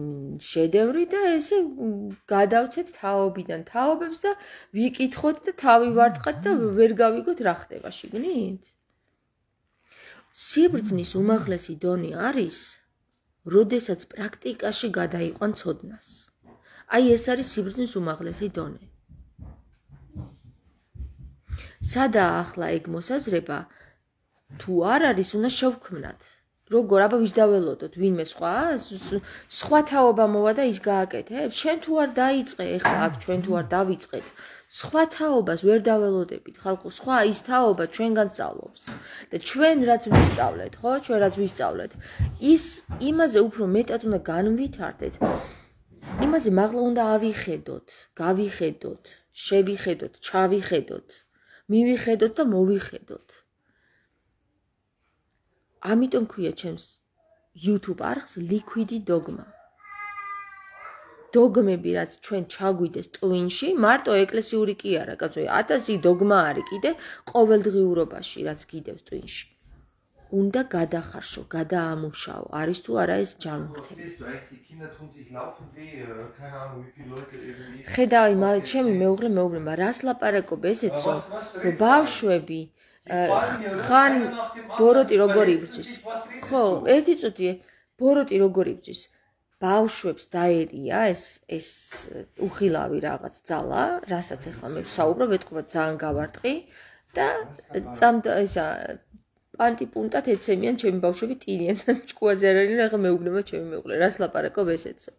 შედევრი და ესე გადავცეთ თაობიდან თაობებს და ვიკითხოთ და თავი ვარტყათ და ვერ გავიგოთ რა ხდება შიგნით. სიბრძნის უმაღლესი დონე არის, როდესაც პრაქტიკაში გადაიყვან ცოდნას. აი ეს არის სიბრძნის უმაღლესი დონე. სადაა ახლა ეგ მოსაზრება? თუ არ არის, უნდა შევქმნათ. როგორ, აბა ვის დაველოდოთ, ვინმე სხვა, სხვა თაობა მოვა და ის გააკეთებს. შენ თუ არ დაიწყე, ეხლა აქ ჩვენ თუ არ დავიწყეთ, სხვა თაობას ვერ დაველოდებით, ხალხო, სხვა ის თაობა ჩვენგან სწავლობს. და ჩვენ რაც ვისწავლეთ, ხო, ჩვენ რაც ვისწავლეთ, ის იმაზე უფრო მეტად უნდა განვითარდეთ. იმაზე მაღლა უნდა ავიხედოთ, გავიხედოთ, შევიხედოთ, ჩავიხედოთ, მივიხედოთ და მოვიხედოთ. ამიტომ ქვია ჩემს YouTube არხს Liquid Dogma. დოგმები რაც ჩვენ ჩაგვიდეს ტვინში, მარტო ეკლესიური კი არა, კაცო, ათასი დოგმა არის კიდე ყოველდღიურობაში, რაც გიდევს ტვინში. უნდა გადახარშო, გადაამუშაო, არის თუ არა ეს ჯანმრთელი. ხედავი, ჩემი მეუღლე მეუბნება, რას ლაპარაკობ ესეცო, რომ ბავშვები ხან ბოროტი როგორი იბრძვის. ხო, ერთი წუთი ბოროტი როგორი იბრძვის. ბავშვებს დაერია ეს ეს უხილავი რაღაც ძალა, რასაც ახლა მე ვსაუბრობ, ეთქობა ძალიან გავარტყი და წამ ისა პანტი-პუნტად ეცემიან ჩემი ბავშვები ტირიან და ჭკუაზე არ არიან, ახლა მეუბნება ჩემი მეუღლე, რას ლაპარაკობ ესეცო.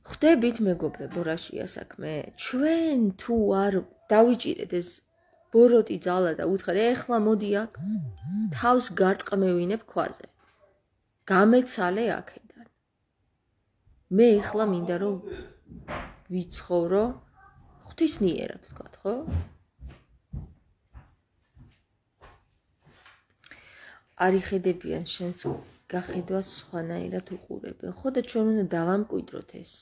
ხვდებით მეგობრებო, რაშია საქმე? ჩვენ თუ არ დავიჭირეთ ეს ბოროტი ძალა და უთხრა ეხლა მოდი აქ თავს გარტყმევინებ ქვაზე. გამეცალე აქედან. მე ეხლა მინდა რომ ვიცხოვრო ღვთისნიერად ვთქვათ, ხო? არ იხედებიან შენს გახედვას სხვანაირად უყურებენ. ხო და ჩვენ უნდა დავამკვიდროთ ეს.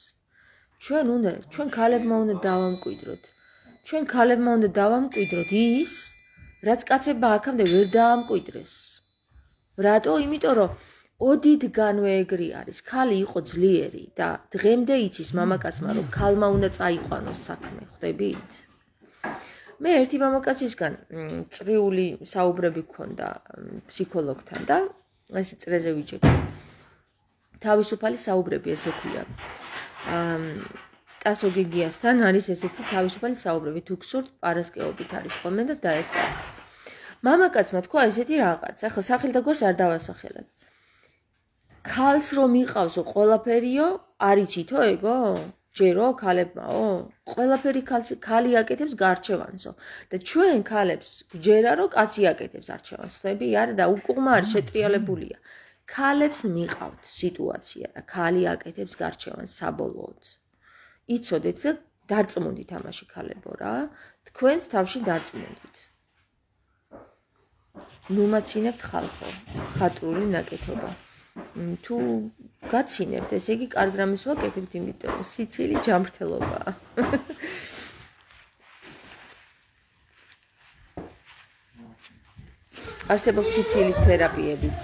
ჩვენ უნდა, ჩვენ ქალებმა უნდა დავამკვიდროთ. ჩვენ ქალებმა უნდა დავამკვიდროთ ის, რაც კაცებმა აქამდე ვერ დაამკვიდრეს. რატო? იმიტომ რომ ოდითგანვე ეგრე არის. ქალი იყო ძლიერი და დღემდე იცის მამაკაცმა რომ ქალმა უნდა წაიყვანოს საქმე, ხვდებით? მე ერთი მამაკაცისგან წრიული საუბრები გქონდა ფსიქოლოგთან და ესე წრეზე ვიჯექით. თავისუფალი საუბრები ესე ქვია. ტასო გიგიასთან არის ესეთი თავისუფალი საუბრები, თუ გსურთ პარასკევობით არის ხოლმე და დაესწრათ. მამაკაცმა თქვა ესეთი რაღაც, ახლა სახელ და გვარს არ დავასახელებ. ქალს რომ იყავსო ყველაფერიო, არიცითო ეგო? ჯერო ქალებმაო? ყველაფერი ქალი აკეთებს გარჩევანსო და ჩვენ ქალებს გჯერა რომ კაცი აკეთებს არჩევანს. ხდები არა და უკუღმა არ შეტრიალებულია. ქალებს მიყავთ სიტუაცია და ქალი აკეთებს გარჩევანს საბოლოოდ. იცოდეთ და დარწმუნდით ამაში ქალებო რა, თქვენს თავში დარწმუნდით. ნუმაცინებთ ხალხო, ხატრული ნაკეთობა. თუ გაცინებთ, ესე იგი კარგ რამეს ვაკეთებთ, იმიტომ სიცილი ჯანმრთელობაა. არსებობს სიცილის თერაპიებიც.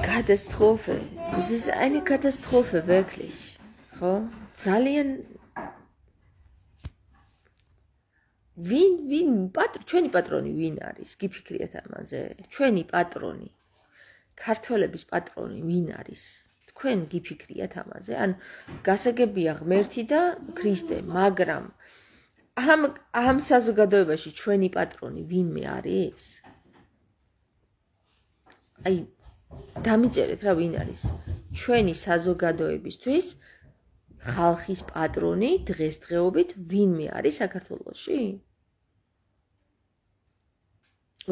Katastrophe. Das ist eine Katastrophe, wirklich. ხო? ძალიან ვინ ვინ პატრო ჩვენი პატრონი ვინ არის? გიფიქრიათ ამაზე? ჩვენი პატრონი. ქართველების პატრონი ვინ არის? თქვენ გიფიქრიათ ამაზე? ან გასაგებია ღმერთი და ქრისტე, მაგრამ ამ ამ საზოგადოებაში ჩვენი პატრონი ვინმე არის? აი დამიწერეთ რა ვინ არის ჩვენი საზოგადოებისთვის ხალხის პატრონი დღესდღეობით ვინმე არის საქართველოში?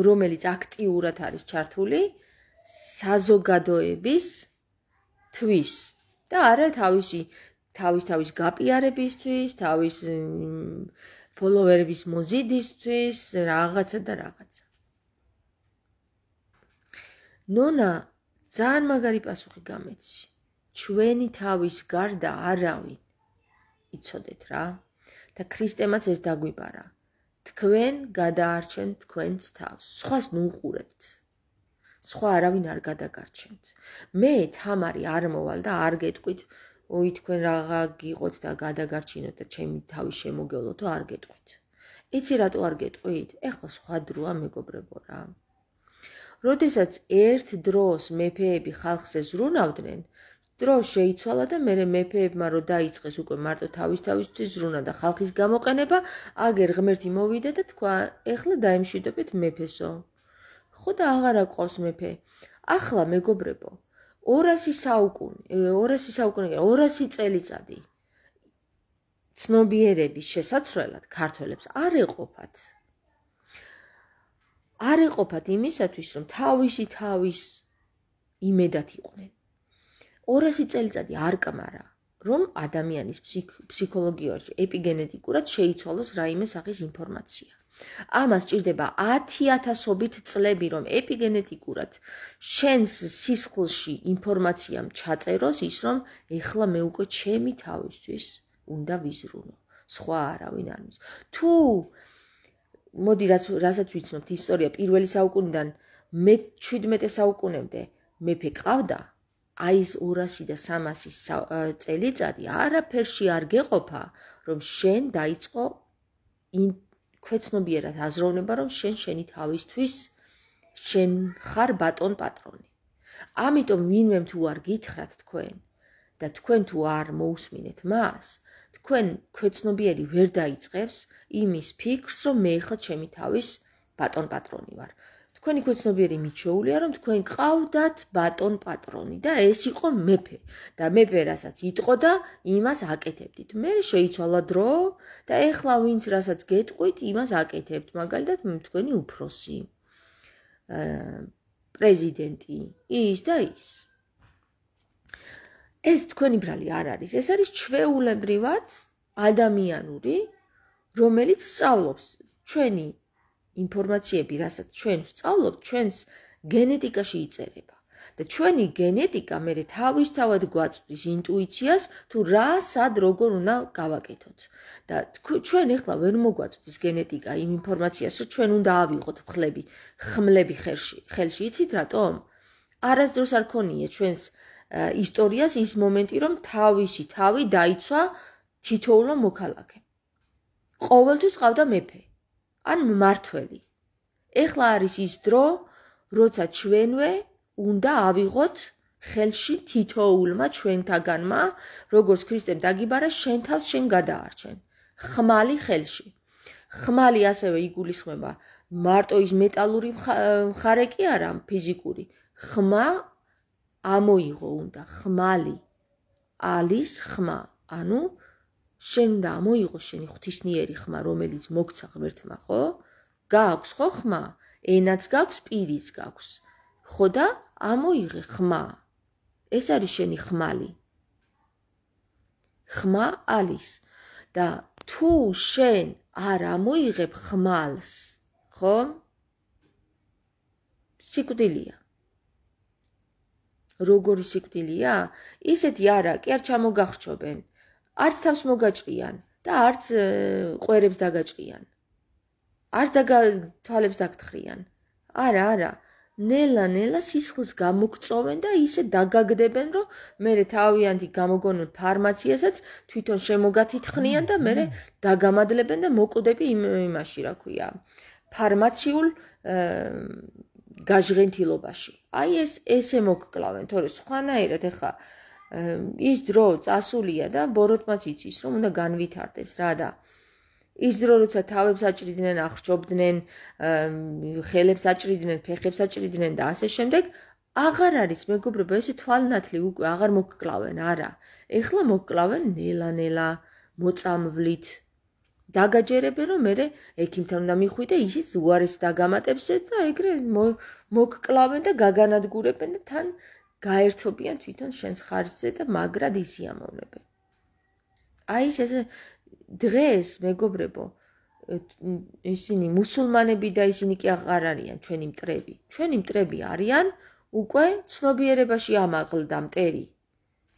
რომელიც აქტიურად არის ჩართული საზოგადოების თვის და არა თავისი თავის თავის გაპიარებისთვის, თავის ფოლოვერების მოზიდისთვის, რაღაცა და რაღაცა. ნონა ძალიან მაგარი პასუხი გამეცი. ჩვენი თავის გარდა არავინ. იცოდეთ რა? და ქრისტემაც ეს დაგვიბარა. თქვენ გადაარჩენთ თქვენს თავს. სხვას ნუყურებთ. სხვა არავინ არ გადაგარჩენთ. მე თამარი არ მოვალ და არ გეტყვით, ой, თქვენ რაღა გიყოთ და გადაგარჩინოთ და ჩემი თავი შემოგევლოთ, არ გეტყვით. იცი რატო არ გეტყვით? ეხლა სხვა დროა მეგობრებო რა. როდესაც ერთ დროს მეფეები ხალხზე ზრუნავდნენ, დრო შეიცვალა და მერე მეფეებმა რო დაიწყეს უკვე მარტო თავის თავისთვის ზრუნა და ხალხის გამოყენება, აგერ ღმერთი მოვიდა და თქვა, ეხლა დაემშვიდობეთ მეფესო. ხო და აღარა ყავს მეფე. ახლა მეგობრებო, ორასი საუკუნე, ორასი საუკუნე, ორასი წელიწადი ცნობიერების შესაცვლელად ქართველებს არ ეყოფათ. არ ეყოფათ იმისათვის, რომ თავისი თავის იმედად იყვნენ. ორასი წელიწადი არ კმარა, რომ ადამიანის ფსიქოლოგიაში ეპიგენეტიკურად შეიცვალოს რაიმე სახის ინფორმაცია. ამას ჭირდება ათი ათასობით წლები, რომ ეპიგენეტიკურად შენს სისხლში ინფორმაციამ ჩაწეროს ის, რომ ეხლა მე უკვე ჩემი თავისთვის უნდა ვიზრუნო. სხვა არავინ არ მის. თუ მოდი რასაც ვიცნობთ ისტორია პირველი საუკუნიდან მეჩვიდმეტე საუკუნემდე მეფე ყავდა, აი ეს ორასი და სამასი წელიწადი არაფერში არ გეყოფა, რომ შენ დაიწყო ქვეცნობიერად აზროვნება, რომ შენ შენი თავისთვის შენ ხარ ბატონ პატრონი. ამიტომ ვინმემ თუ არ გითხრათ თქვენ და თქვენ თუ არ მოусმინეთ მას, თქვენ ქვეცნობიერი ვერ დაიწყებს იმის ფიქრს, რომ მე ხა ჩემი თავის ბატონ პატრონი ვარ. თქვენი ქვეცნობიერი მიჩვეულია, რომ თქვენ ყავდათ ბატონ პატრონი და ეს იყო მეფე და მეფე რასაც იტყო და იმას აკეთებდით. მე შეიცვალა დრო და ეხლა ვინც რასაც გეტყვით, იმას აკეთებთ. მაგალითად, თქვენი უფროსი, პრეზიდენტი, ის და ის. ეს თქვენი ბრალი არ არის, ეს არის ჩვეულებრივად ადამიანური, რომელიც სწავლობს ჩვენი ინფორმაციები, რასაც ჩვენ ვსწავლობთ, ჩვენს გენეტიკაში იწერება. და ჩვენი გენეტიკა მერე თავისთავად გვაწვდის ინტუიციას, თუ რა, სად, როგორ უნდა გავაკეთოთ. და ჩვენ ეხლა ვერ მოგვაწვდის გენეტიკა იმ ინფორმაციას, რომ ჩვენ უნდა ავიღოთ მხლები, ხმლები ხელში. ხელში იცით რატომ? არასდროს არ ქონია ჩვენს ისტორიას ის მომენტი, რომ თავისი თავი დაიცვა თითოეულმა მოქალაქემ. ყოველთვის ყავდა მეფე. ან მმართველი. ეხლა არის ის დრო, როცა ჩვენვე უნდა ავიღოთ ხელში თითოეულმა ჩვენთაგანმა, როგორც ქრისტემ დაგიბარა, შენ თავს შენ გადაარჩენ. ხმალი ხელში. ხმალი ასევე იგულისხმება მარტო ის მეტალური მხარე კი არა, ფიზიკური. ხმა ამოიღო უნდა, ხმალი. ალის ხმა, ანუ შენ უნდა ამოიღო შენი ღვთისმიერი ხმა, რომელიც მოგცა ღმერთმა, ხო? გააქვს ხო ხმა? ენაც გაქვს, პირიც გაქვს. ხო და ამოიღე ხმა. ეს არის შენი ხმალი. ხმა ალის და თუ შენ არ ამოიღებ ხმალს, ხო? სიკვდილია. როგორი სიკვდილია? ისეთი არა, კი არ ჩამოგახრჩობენ. არც თავს მოგაჭრიან და არც ყვერებს დაგაჭრიან. არც თვალებს დაგთხრიან. არა, არა. ნელა-ნელა სისხლს გამოგწოვენ და ისე დაგაგდებენ, რომ მერე თავიანთი გამოგონონ ფარმაციასაც, თვითონ შემოგათითხნიან და მერე დაგამადლებენ და მოკვდები იმაში, რა ქვია, ფარმაციულ გაჟღენთილობაში. აი ეს ესე მოგკლავენ, თორე სხვანაირად ეხა ის დრო წასულია და ბოროტმაც იცის, რომ უნდა განვითარდეს რა და ის დრო, როცა თავებს აჭრიდნენ, აღრჩობდნენ, ხელებს აჭრიდნენ, ფეხებს აჭრიდნენ და ასე შემდეგ, აღარ არის მეგობრებო, ესე თვალნათლი უკვე აღარ მოგკლავენ, არა. ეხლა მოგკლავენ ნელა-ნელა, მოწამვლით. დაგაჯერებენ, რომ მერე ექიმთან უნდა მიხვიდე, ისიც უარეს დაგამატებს და ეგრე მოგკლავენ და გაგანადგურებენ და თან გაერთობიან თვითონ შენს ხარჯზე და მაგრად ისიამოვნებენ. აი ესე დღეს მეგობრებო, ისინი მუსულმანები და ისინი კი აღარ არიან ჩვენი მტრები. ჩვენი მტრები არიან უკვე ცნობიერებაში ამაღლდა მტერი.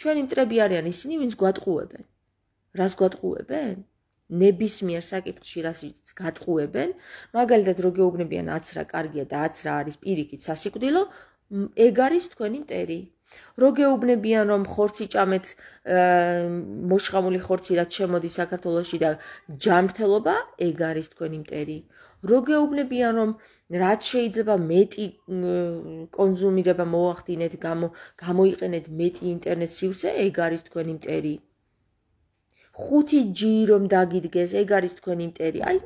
ჩვენი მტრები არიან ისინი, ვინც გვატყუებენ. რას გვატყუებენ? ნებისმიერ საკითხში რასაც გატყუებენ, მაგალითად რო გეუბნებიან აცრა კარგია და აცრა არის პირიქით სასიკვდილო, ეგ არის თქვენი მტერი. რო გეუბნებიან რომ ხორცი ჭამეთ, მოშხამული ხორცი რაც შემოდის საქართველოში და ჯანმრთელობა, ეგ არის თქვენი მტერი. რო გეუბნებიან რომ რაც შეიძლება მეტი კონზუმირება მოახდინეთ, გამოიყენეთ მეტი ინტერნეტ სივრცე, ეგ არის თქვენი მტერი. ხუთი ჯი რომ დაგიდგეს, ეგ არის თქვენი მტერი. აი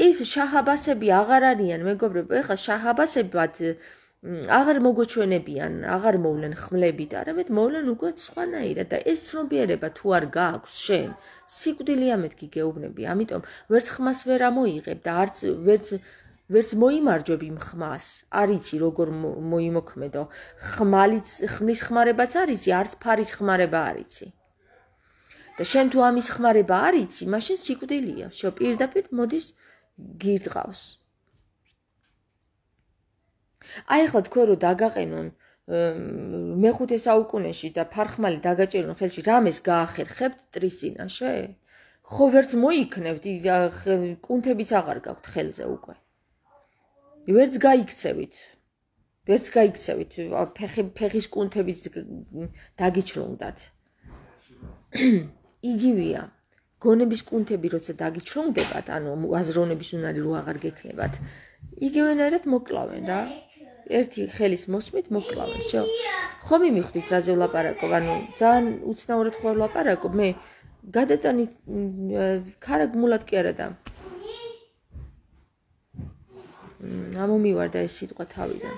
ეს შაჰ-აბასები აღარ არიან, მეგობრებო, ეხლა შაჰ-აბასებად აღარ მოგოჩვენებიან, აღარ მოვლენ ხმლებით, არამედ მოვლენ უკვე სხვანაირად და ეს ცნობიერება თუ არ გააქვს შენ, სიკვდილია მეთქი გეუბნები, ამიტომ ვერც ხმას ვერ ამოიღებ და არც ვერც ვერც მოიმარჯვებ იმ ხმას, არ იცი როგორ მოიმოქმედო, ხმალიც ხმის ხმარებაც არ იცი, არც ფარის ხმარება არ იცი. და შენ თუ ამის ხმარება არ იცი, მაშინ სიკვდილია, შო პირდაპირ მოდის გირდყავს. აი ახლა თქვენ რო დაგაყენონ მეხუთე საუკუნეში და ფარხმალი დაგაჭერონ ხელში, რამეს გაახერხებთ მტრის წინაშე? ხო ვერც მოიქნევთ, კუნთებიც აღარ გაქვთ ხელზე უკვე. ვერც გაიქცევით. ვერც გაიქცევით, ფეხის კუნთებიც დაგიჩრუნდათ. იგივეა. გონების კუნთები როცა დაგიჩრუნდებათ, ანუ აზროვნების უნარი რო აღარ გექნებათ, იგივენაირად მოკლავენ რა. ერთი ხელის მოსმით მოკლავენ, შო. ხომ იმიხვდით რაზე ვლაპარაკობ, ანუ ძალიან უცნაურად ხო ვლაპარაკობ, მე გადატანით ქარაგმულად კი არა და ამომივარდა ეს სიტყვა თავიდან.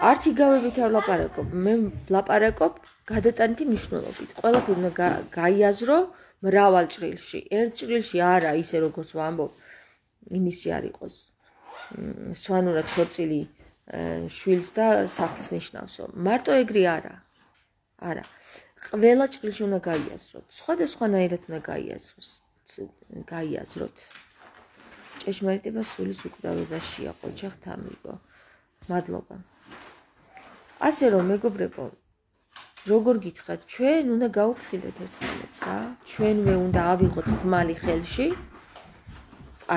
არც იგავებით არ ვლაპარაკობ, მე ვლაპარაკობ გადატანითი მნიშვნელობით. ყველაფერი უნდა გაიაზრო მრავალ ჭრილში. ერთ ჭრილში არა, ისე როგორც ვამბობ, იმისი არ იყოს. სვანურად ხორცილი შვილს და სახლს ნიშნავსო. მარტო ეგრე არა. არა. ყველა ჭრილში უნდა გაიაზროთ. სხვადასხვანაირად უნდა გაიაზროს. გაიაზროთ. ჭეშმარიტება სულის უკვდავებაშია, ყოჩახთ ამიგო. მადლობა. ასე რომ მეგობრებო, როგორ გითხრათ, ჩვენ უნდა გაუფრთხილდეთ ერთმანეთს რა. ჩვენვე უნდა ავიღოთ ხმალი ხელში,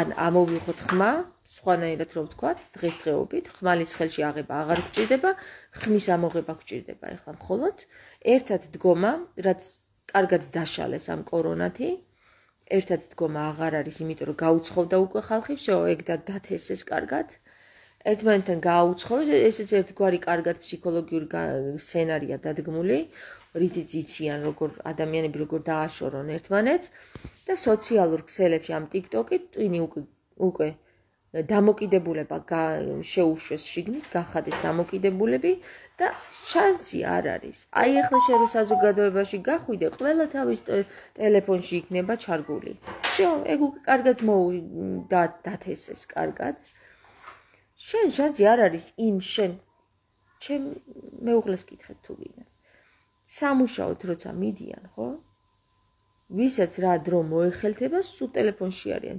ან ამოვიღოთ ხმა, სხვანაირად რომ ვთქვათ, დღესდღეობით ხმალის ხელში აღება აღარ გჭირდება, ხმის ამოღება გჭირდება ეხლა მხოლოდ ერთად დგომა, რაც კარგად დაშალეს ამ კორონათი ერთად დგომა აღარ არის, იმიტომ რომ გაუცხოვდა უკვე ხალხი, всё, ეგ და დათესეს კარგად. ერთმანეთთან გააუცხოვეს, ესეც ერთგვარი კარგად ფსიქოლოგიური სცენარია დადგმული, რითიც იციან როგორ ადამიანები როგორ დააშორონ ერთმანეთს და სოციალურ ქსელებში ამ TikTok-ით ტვინი უკვე უკვე დამოკიდებულება შეუშვეს შიგნით, გახადეს დამოკიდებულები და შანსი არ არის. აი ახლა შენ რო საზოგადოებაში გახვიდე, ყველა თავის ტელეფონში იქნება ჩარგული. всё, ეგ უკვე კარგად დათესეს კარგად. შენ შანსი არ არის იმ შენ ჩემ მეუღლეს კითხეთ თუ გინდა. სამუშაოდ როცა მიდიან, ხო? ვისაც რა დრო მოეხელთება, სულ ტელეფონში არიან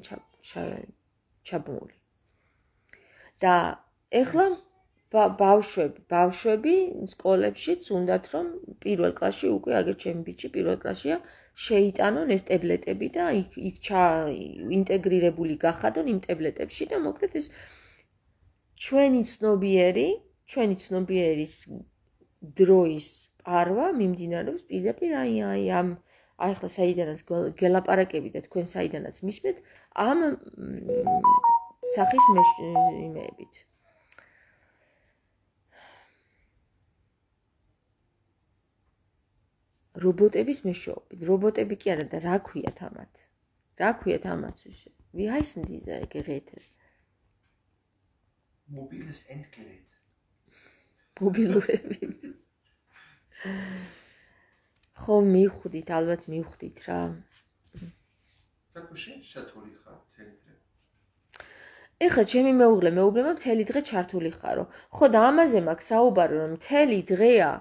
ჩაბმული. და ეხლა ბავშვები, ბავშვები სკოლებშიც უნდათ რომ პირველ კლასში უკვე აგერ ჩემი ბიჭი პირველ კლასშია შეიტანონ ეს ტაბლეტები და იქ იქ ინტეგრირებული გახადონ იმ ტაბლეტებში და მოკლედ ეს ჩვენი ცნობიერი, ჩვენი ცნობიერის დროის პარვა მიმდინარეობს პირდაპირ აი აი ამ აი ახლა საიდანაც გელაპარაკები და თქვენ საიდანაც მისმენთ ამ სახის იმეებით. რობოტების მეშვეობით. რობოტები კი არა და რა ქვიათ ამათ? რა ქვიათ ამათ? Wie heißen diese Geräte? Mobiles Endgerät. მობილურები. ხო მივხვდით, ალბათ მივხვდით რა. Საკუ შენ ჩართული ხარ მთელი დღე? ეხლა ჩემი მეუღლე მეუბნება მთელი დღე ჩართული ხარო. ხო და ამაზე მაქვს საუბარი რომ მთელი დღეა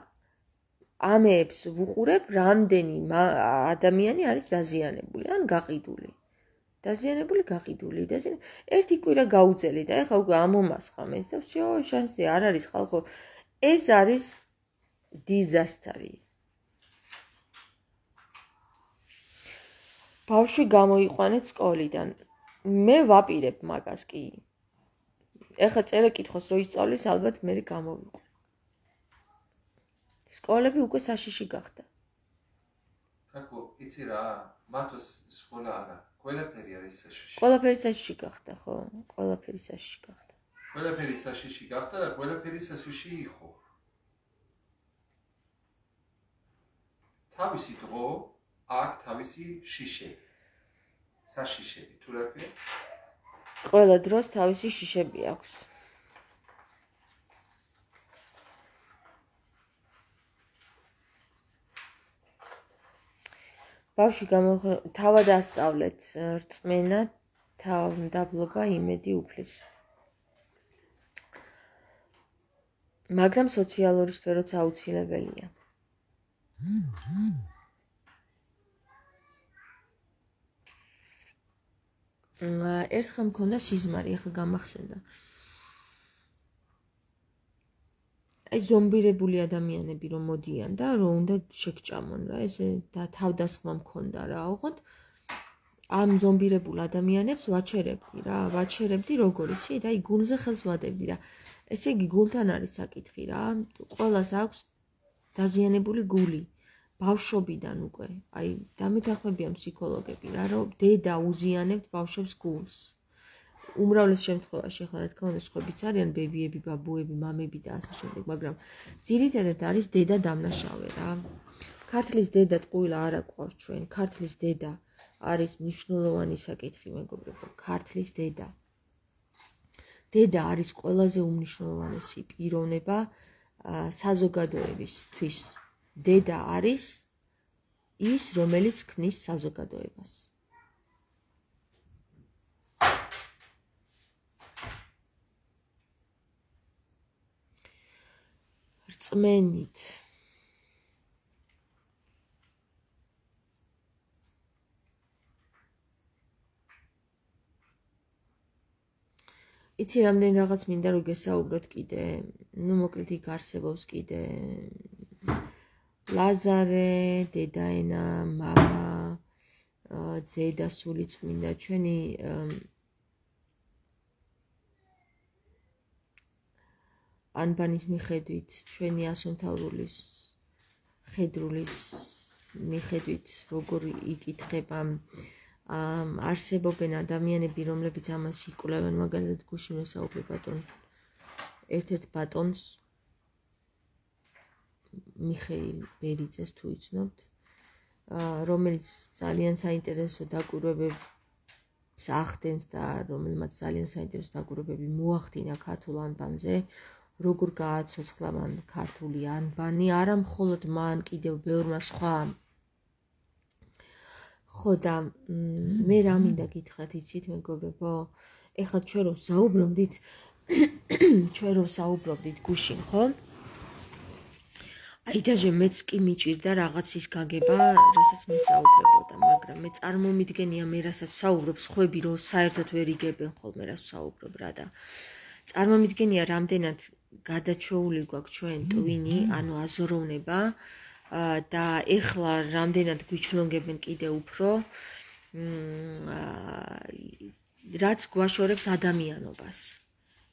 ამებს ვუყურებ, რამდენი ადამიანი არის დაზიანებული, ან გაყიდული. დაზიანებული, გაყიდული, დაზიანებული. ერთი კვირა გაუძელი და ეხლა უკვე ამომასხამ ეს და всё, შანსი არ არის ხალხო. ეს არის დიზასტერი. ბავშვი გამოიყვანეთ სკოლიდან. მე ვაპირებ მაგას კი. ეხლა წერა კითხოს რო ისწავლის, ალბათ მე გამოვიყვან. სკოლები უკვე საშიში გახდა. საკუ, იცი რა, მათოს სკოლა არა. ყველაფერი არის საშიში. ყველაფერი საშიში გახდა, ხო? ყველაფერი საშიში გახდა. ყველაფერი საშიში გახდა და ყველაფერი საშიში იყო. თავისი დრო აქ თავისი შიშები. საშიშები, თუ რა ქვია? ყველა დროს თავისი შიშები აქვს. ბავშვი თავად ასწავლეთ რწმენა, თავმდაბლობა, იმედი, უფლის. მაგრამ სოციალური სფეროც აუცილებელია. ერთხელ მქონდა სიზმარი, ახლა გამახსენდა. აი ზომბირებული ადამიანები რომ მოდიან და რომ უნდა შეგჭამონ რა, ესე და თავდასხმა მქონდა რა, ოღონდ ამ ზომბირებულ ადამიანებს ვაჩერებდი რა, ვაჩერებდი როგორ იცი და აი გულზე ხელს ვადებდი და ესე იგი გულთან არის საკითხი რა, ყველას აქვს დაზიანებული გული. ბავშვობიდან უკვე, აი დამეთანხმებიან ფსიქოლოგები რა, რომ დედა უზიანებთ ბავშვებს გულს. უმრავლეს შემთხვევაში ახლა რა თქმა უნდა სხვებიც არიან ბებიები, ბაბუები, მამები და ასე შემდეგ, მაგრამ ძირითადად არის დედა დამნაშავე რა. ქართლის დედა ტყუილა არ აკვავს ჩვენ, ქართლის დედა არის მნიშვნელოვანი საკითხი მეგობრებო, ქართლის დედა. დედა არის ყველაზე უმნიშვნელოვანესი პიროვნება საზოგადოებისთვის. დედა არის ის, რომელიც ქმნის საზოგადოებას. რწმენით. იცი რამდენი რაღაც მინდა რომ გესაუბროთ კიდე, ნუ მოკლედ იქ არსებობს კიდე ლაზარე, დედაენა, მამა, ძედა სული წმინდა, ჩვენი ანბანის მიხედვით, ჩვენი ასომთავრულის ხედრულის მიხედვით, როგორ იკითხება არსებობენ ადამიანები, რომლებიც ამას იკვლევენ, მაგალითად გუშინ ვესაუბრე ბატონ ერთ-ერთ ბატონს მიხეილ ბერიძეს თუ იცნობთ, რომელიც ძალიან საინტერესო დაკვირვებებს ახდენს და რომელმაც ძალიან საინტერესო დაკვირვებები მოახდინა ქართულ ანბანზე, როგორ გააცოცხლა მან ქართული ანბანი, არა მხოლოდ მან, კიდევ ბევრმა სხვამ. ხო და მე რა მინდა გითხრათ, იცით მეგობრებო, ეხლა ჩვენ რო საუბრობდით, ჩვენ რო საუბრობდით გუშინ, ხო? აი დაჟე მეც კი მიჭირდა რაღაცის გაგება, რასაც მე საუბრებოდა, მაგრამ მე წარმომიდგენია მე რასაც საუბრობ, სხვები რო საერთოდ ვერ იგებენ ხოლმე რას საუბრობ რა და წარმომიდგენია რამდენად გადაჩეული გვაქვს ჩვენ ტვინი, ანუ აზროვნება და ეხლა რამდენად გვიჩნონგებენ კიდე უფრო, რაც გვაშორებს ადამიანობას.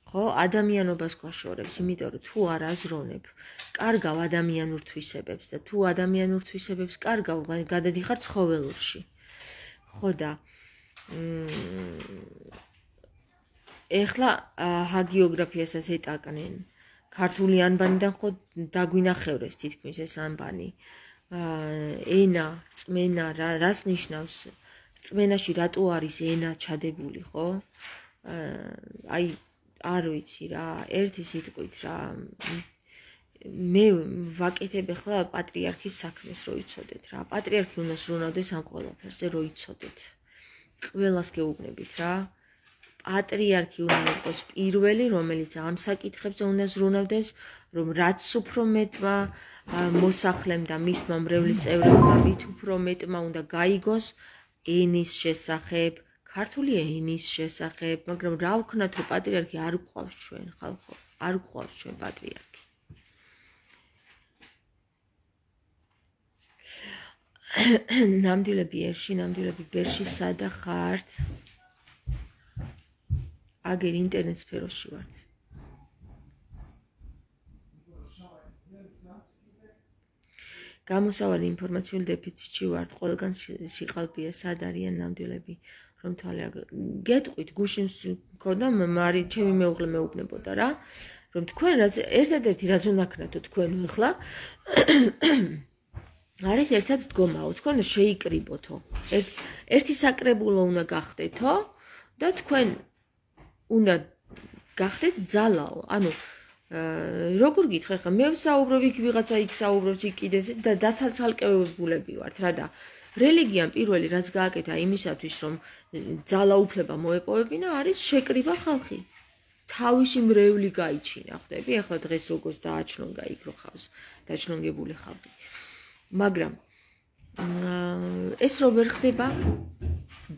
ხო, ადამიანობას გვაშორებს, იმიტომ რომ თუ არ აზროვნებ, კარგავ ადამიანურ თვისებებს და თუ ადამიანურ თვისებებს კარგავ, გადადიხარ ცხოველურში. ხო და ეხლა ჰაგიოგრაფიასაც ეტაკნენ. ქართული ანბანიდან ხო დაგვინახევრეს თითქმის ეს ანბანი. ენა, რწმენა, რას ნიშნავს? რწმენაში რატო არის ენა ჩადებული, ხო? აი არ ვიცი რა, ერთი სიტყვით რა. მე ვაკეთებ ახლა პატრიარქის საქმეს, რო იცოდეთ რა. პატრიარქი უნდა ზრუნავდეს ამ ყველაფერზე, რო იცოდეთ. ყველას გეუბნებით რა. პატრიარქი უნდა იყოს პირველი, რომელიც ამ საკითხებზე უნდა ზრუნავდეს, რომ რაც უფრო მეტმა მოსახლემ და მისმა მრევლის წევრებმა მით უფრო მეტმა უნდა გაიგოს ენის შესახებ, ქართული ენის შესახებ, მაგრამ რა ვქნათ, რომ პატრიარქი არ გვყავს ჩვენ, ხალხო, არ გვყავს ჩვენ პატრიარქი. ნამდვილები ერში, ნამდვილები ბერში, სადა ხართ? აგერ ინტერნეტ სფეროში ვართ. გამოსავალი ინფორმაციული დეფიციტში ვართ, ყველგან სიყალბეა, სად არიან ნამდვილები, რომ თვალე გეტყვით, გუშინ მქონდა მარი, ჩემი მეუღლე მეუბნებოდა რა, რომ თქვენ რაც ერთადერთი რაც უნდა ქნათო თქვენ ახლა არის ერთად დგომაო, თქვენ შეიკრიბოთო. ერთი საკრებულო უნდა გახდეთო და თქვენ უნდა გახდეთ ძალაო, ანუ როგორ გითხრა ხა მე ვსაუბრობ იქ ვიღაცა იქ საუბრობს იქ კიდე და დაცალკევებულები ვართ რა და რელიგიამ პირველი რაც გააკეთა იმისათვის რომ ძალაუფლება მოეპოვებინა არის შეკრიბა ხალხი. თავისი მრევლი გაიჩინა, ხვდები? ახლა დღეს როგორც დააჩნონგა იქ რო ხავს დაჩნონგებული ხალხი. მაგრამ ეს რო ვერ ხდება,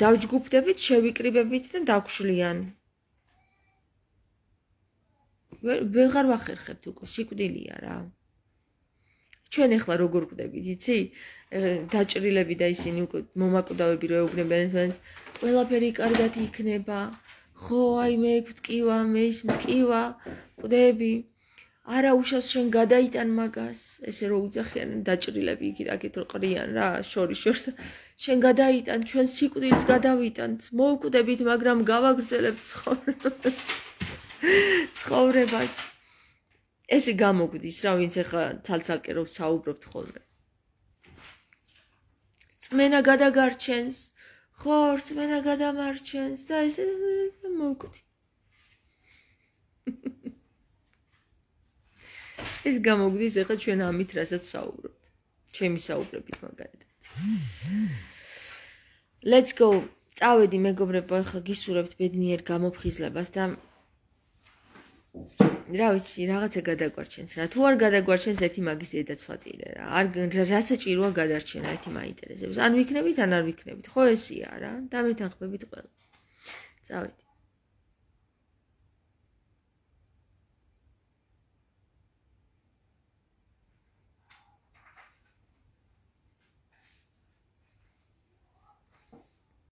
დავჯგუფდებით, შევიკრიბებით და დავგვშლიან. ვეღარ ვახერხებთ უკვე, სიკვდილია რა. ჩვენ ახლა როგორ გვდებით, იცი? დაჭრილები და ისინი უკვე მომაკვდავები რო ეუბნებიან, ყველაფერი კარგად იქნება. ხო, აი მე გვტკივა, მე ის მტკივა, კვდები. არა უშავს შენ გადაიტან მაგას, ესე რო უძახიან დაჭრილები იქით აქეთ რო ყრიან რა, შორის შორს. შენ გადაიტან, ჩვენ სიკვდილს გადავიტანთ, მოვკვდებით, მაგრამ გავაგრძელებთ ცხოვრებას. ესე გამოგვდის რა, ვინც ახლა ცალ-ცალკე რო საუბრობთ ხოლმე. წმენა გადაგარჩენს, ხო, რწმენა გადამარჩენს და ესე მოვკვდი. ეს გამოგვდის ახლა ჩვენ ამით რასაც საუბრობთ. ჩემი საუბრებით მაგალითად. Let's go. წავედი მეგობრებო, ახლა გისურვებთ ბედნიერ გამოფხიზლებას და რა ვიცი, რაღაცა გადაგვარჩენს რა. თუ არ გადაგვარჩენს ერთი მაგის დედაცვატირე რა. არ რა საჭიროა გადარჩენა, ერთი მაინტერესებს. ან ვიქნებით, ან არ ვიქნებით. ხო ესეა რა. დამეთანხმებით ყველა. წავედი.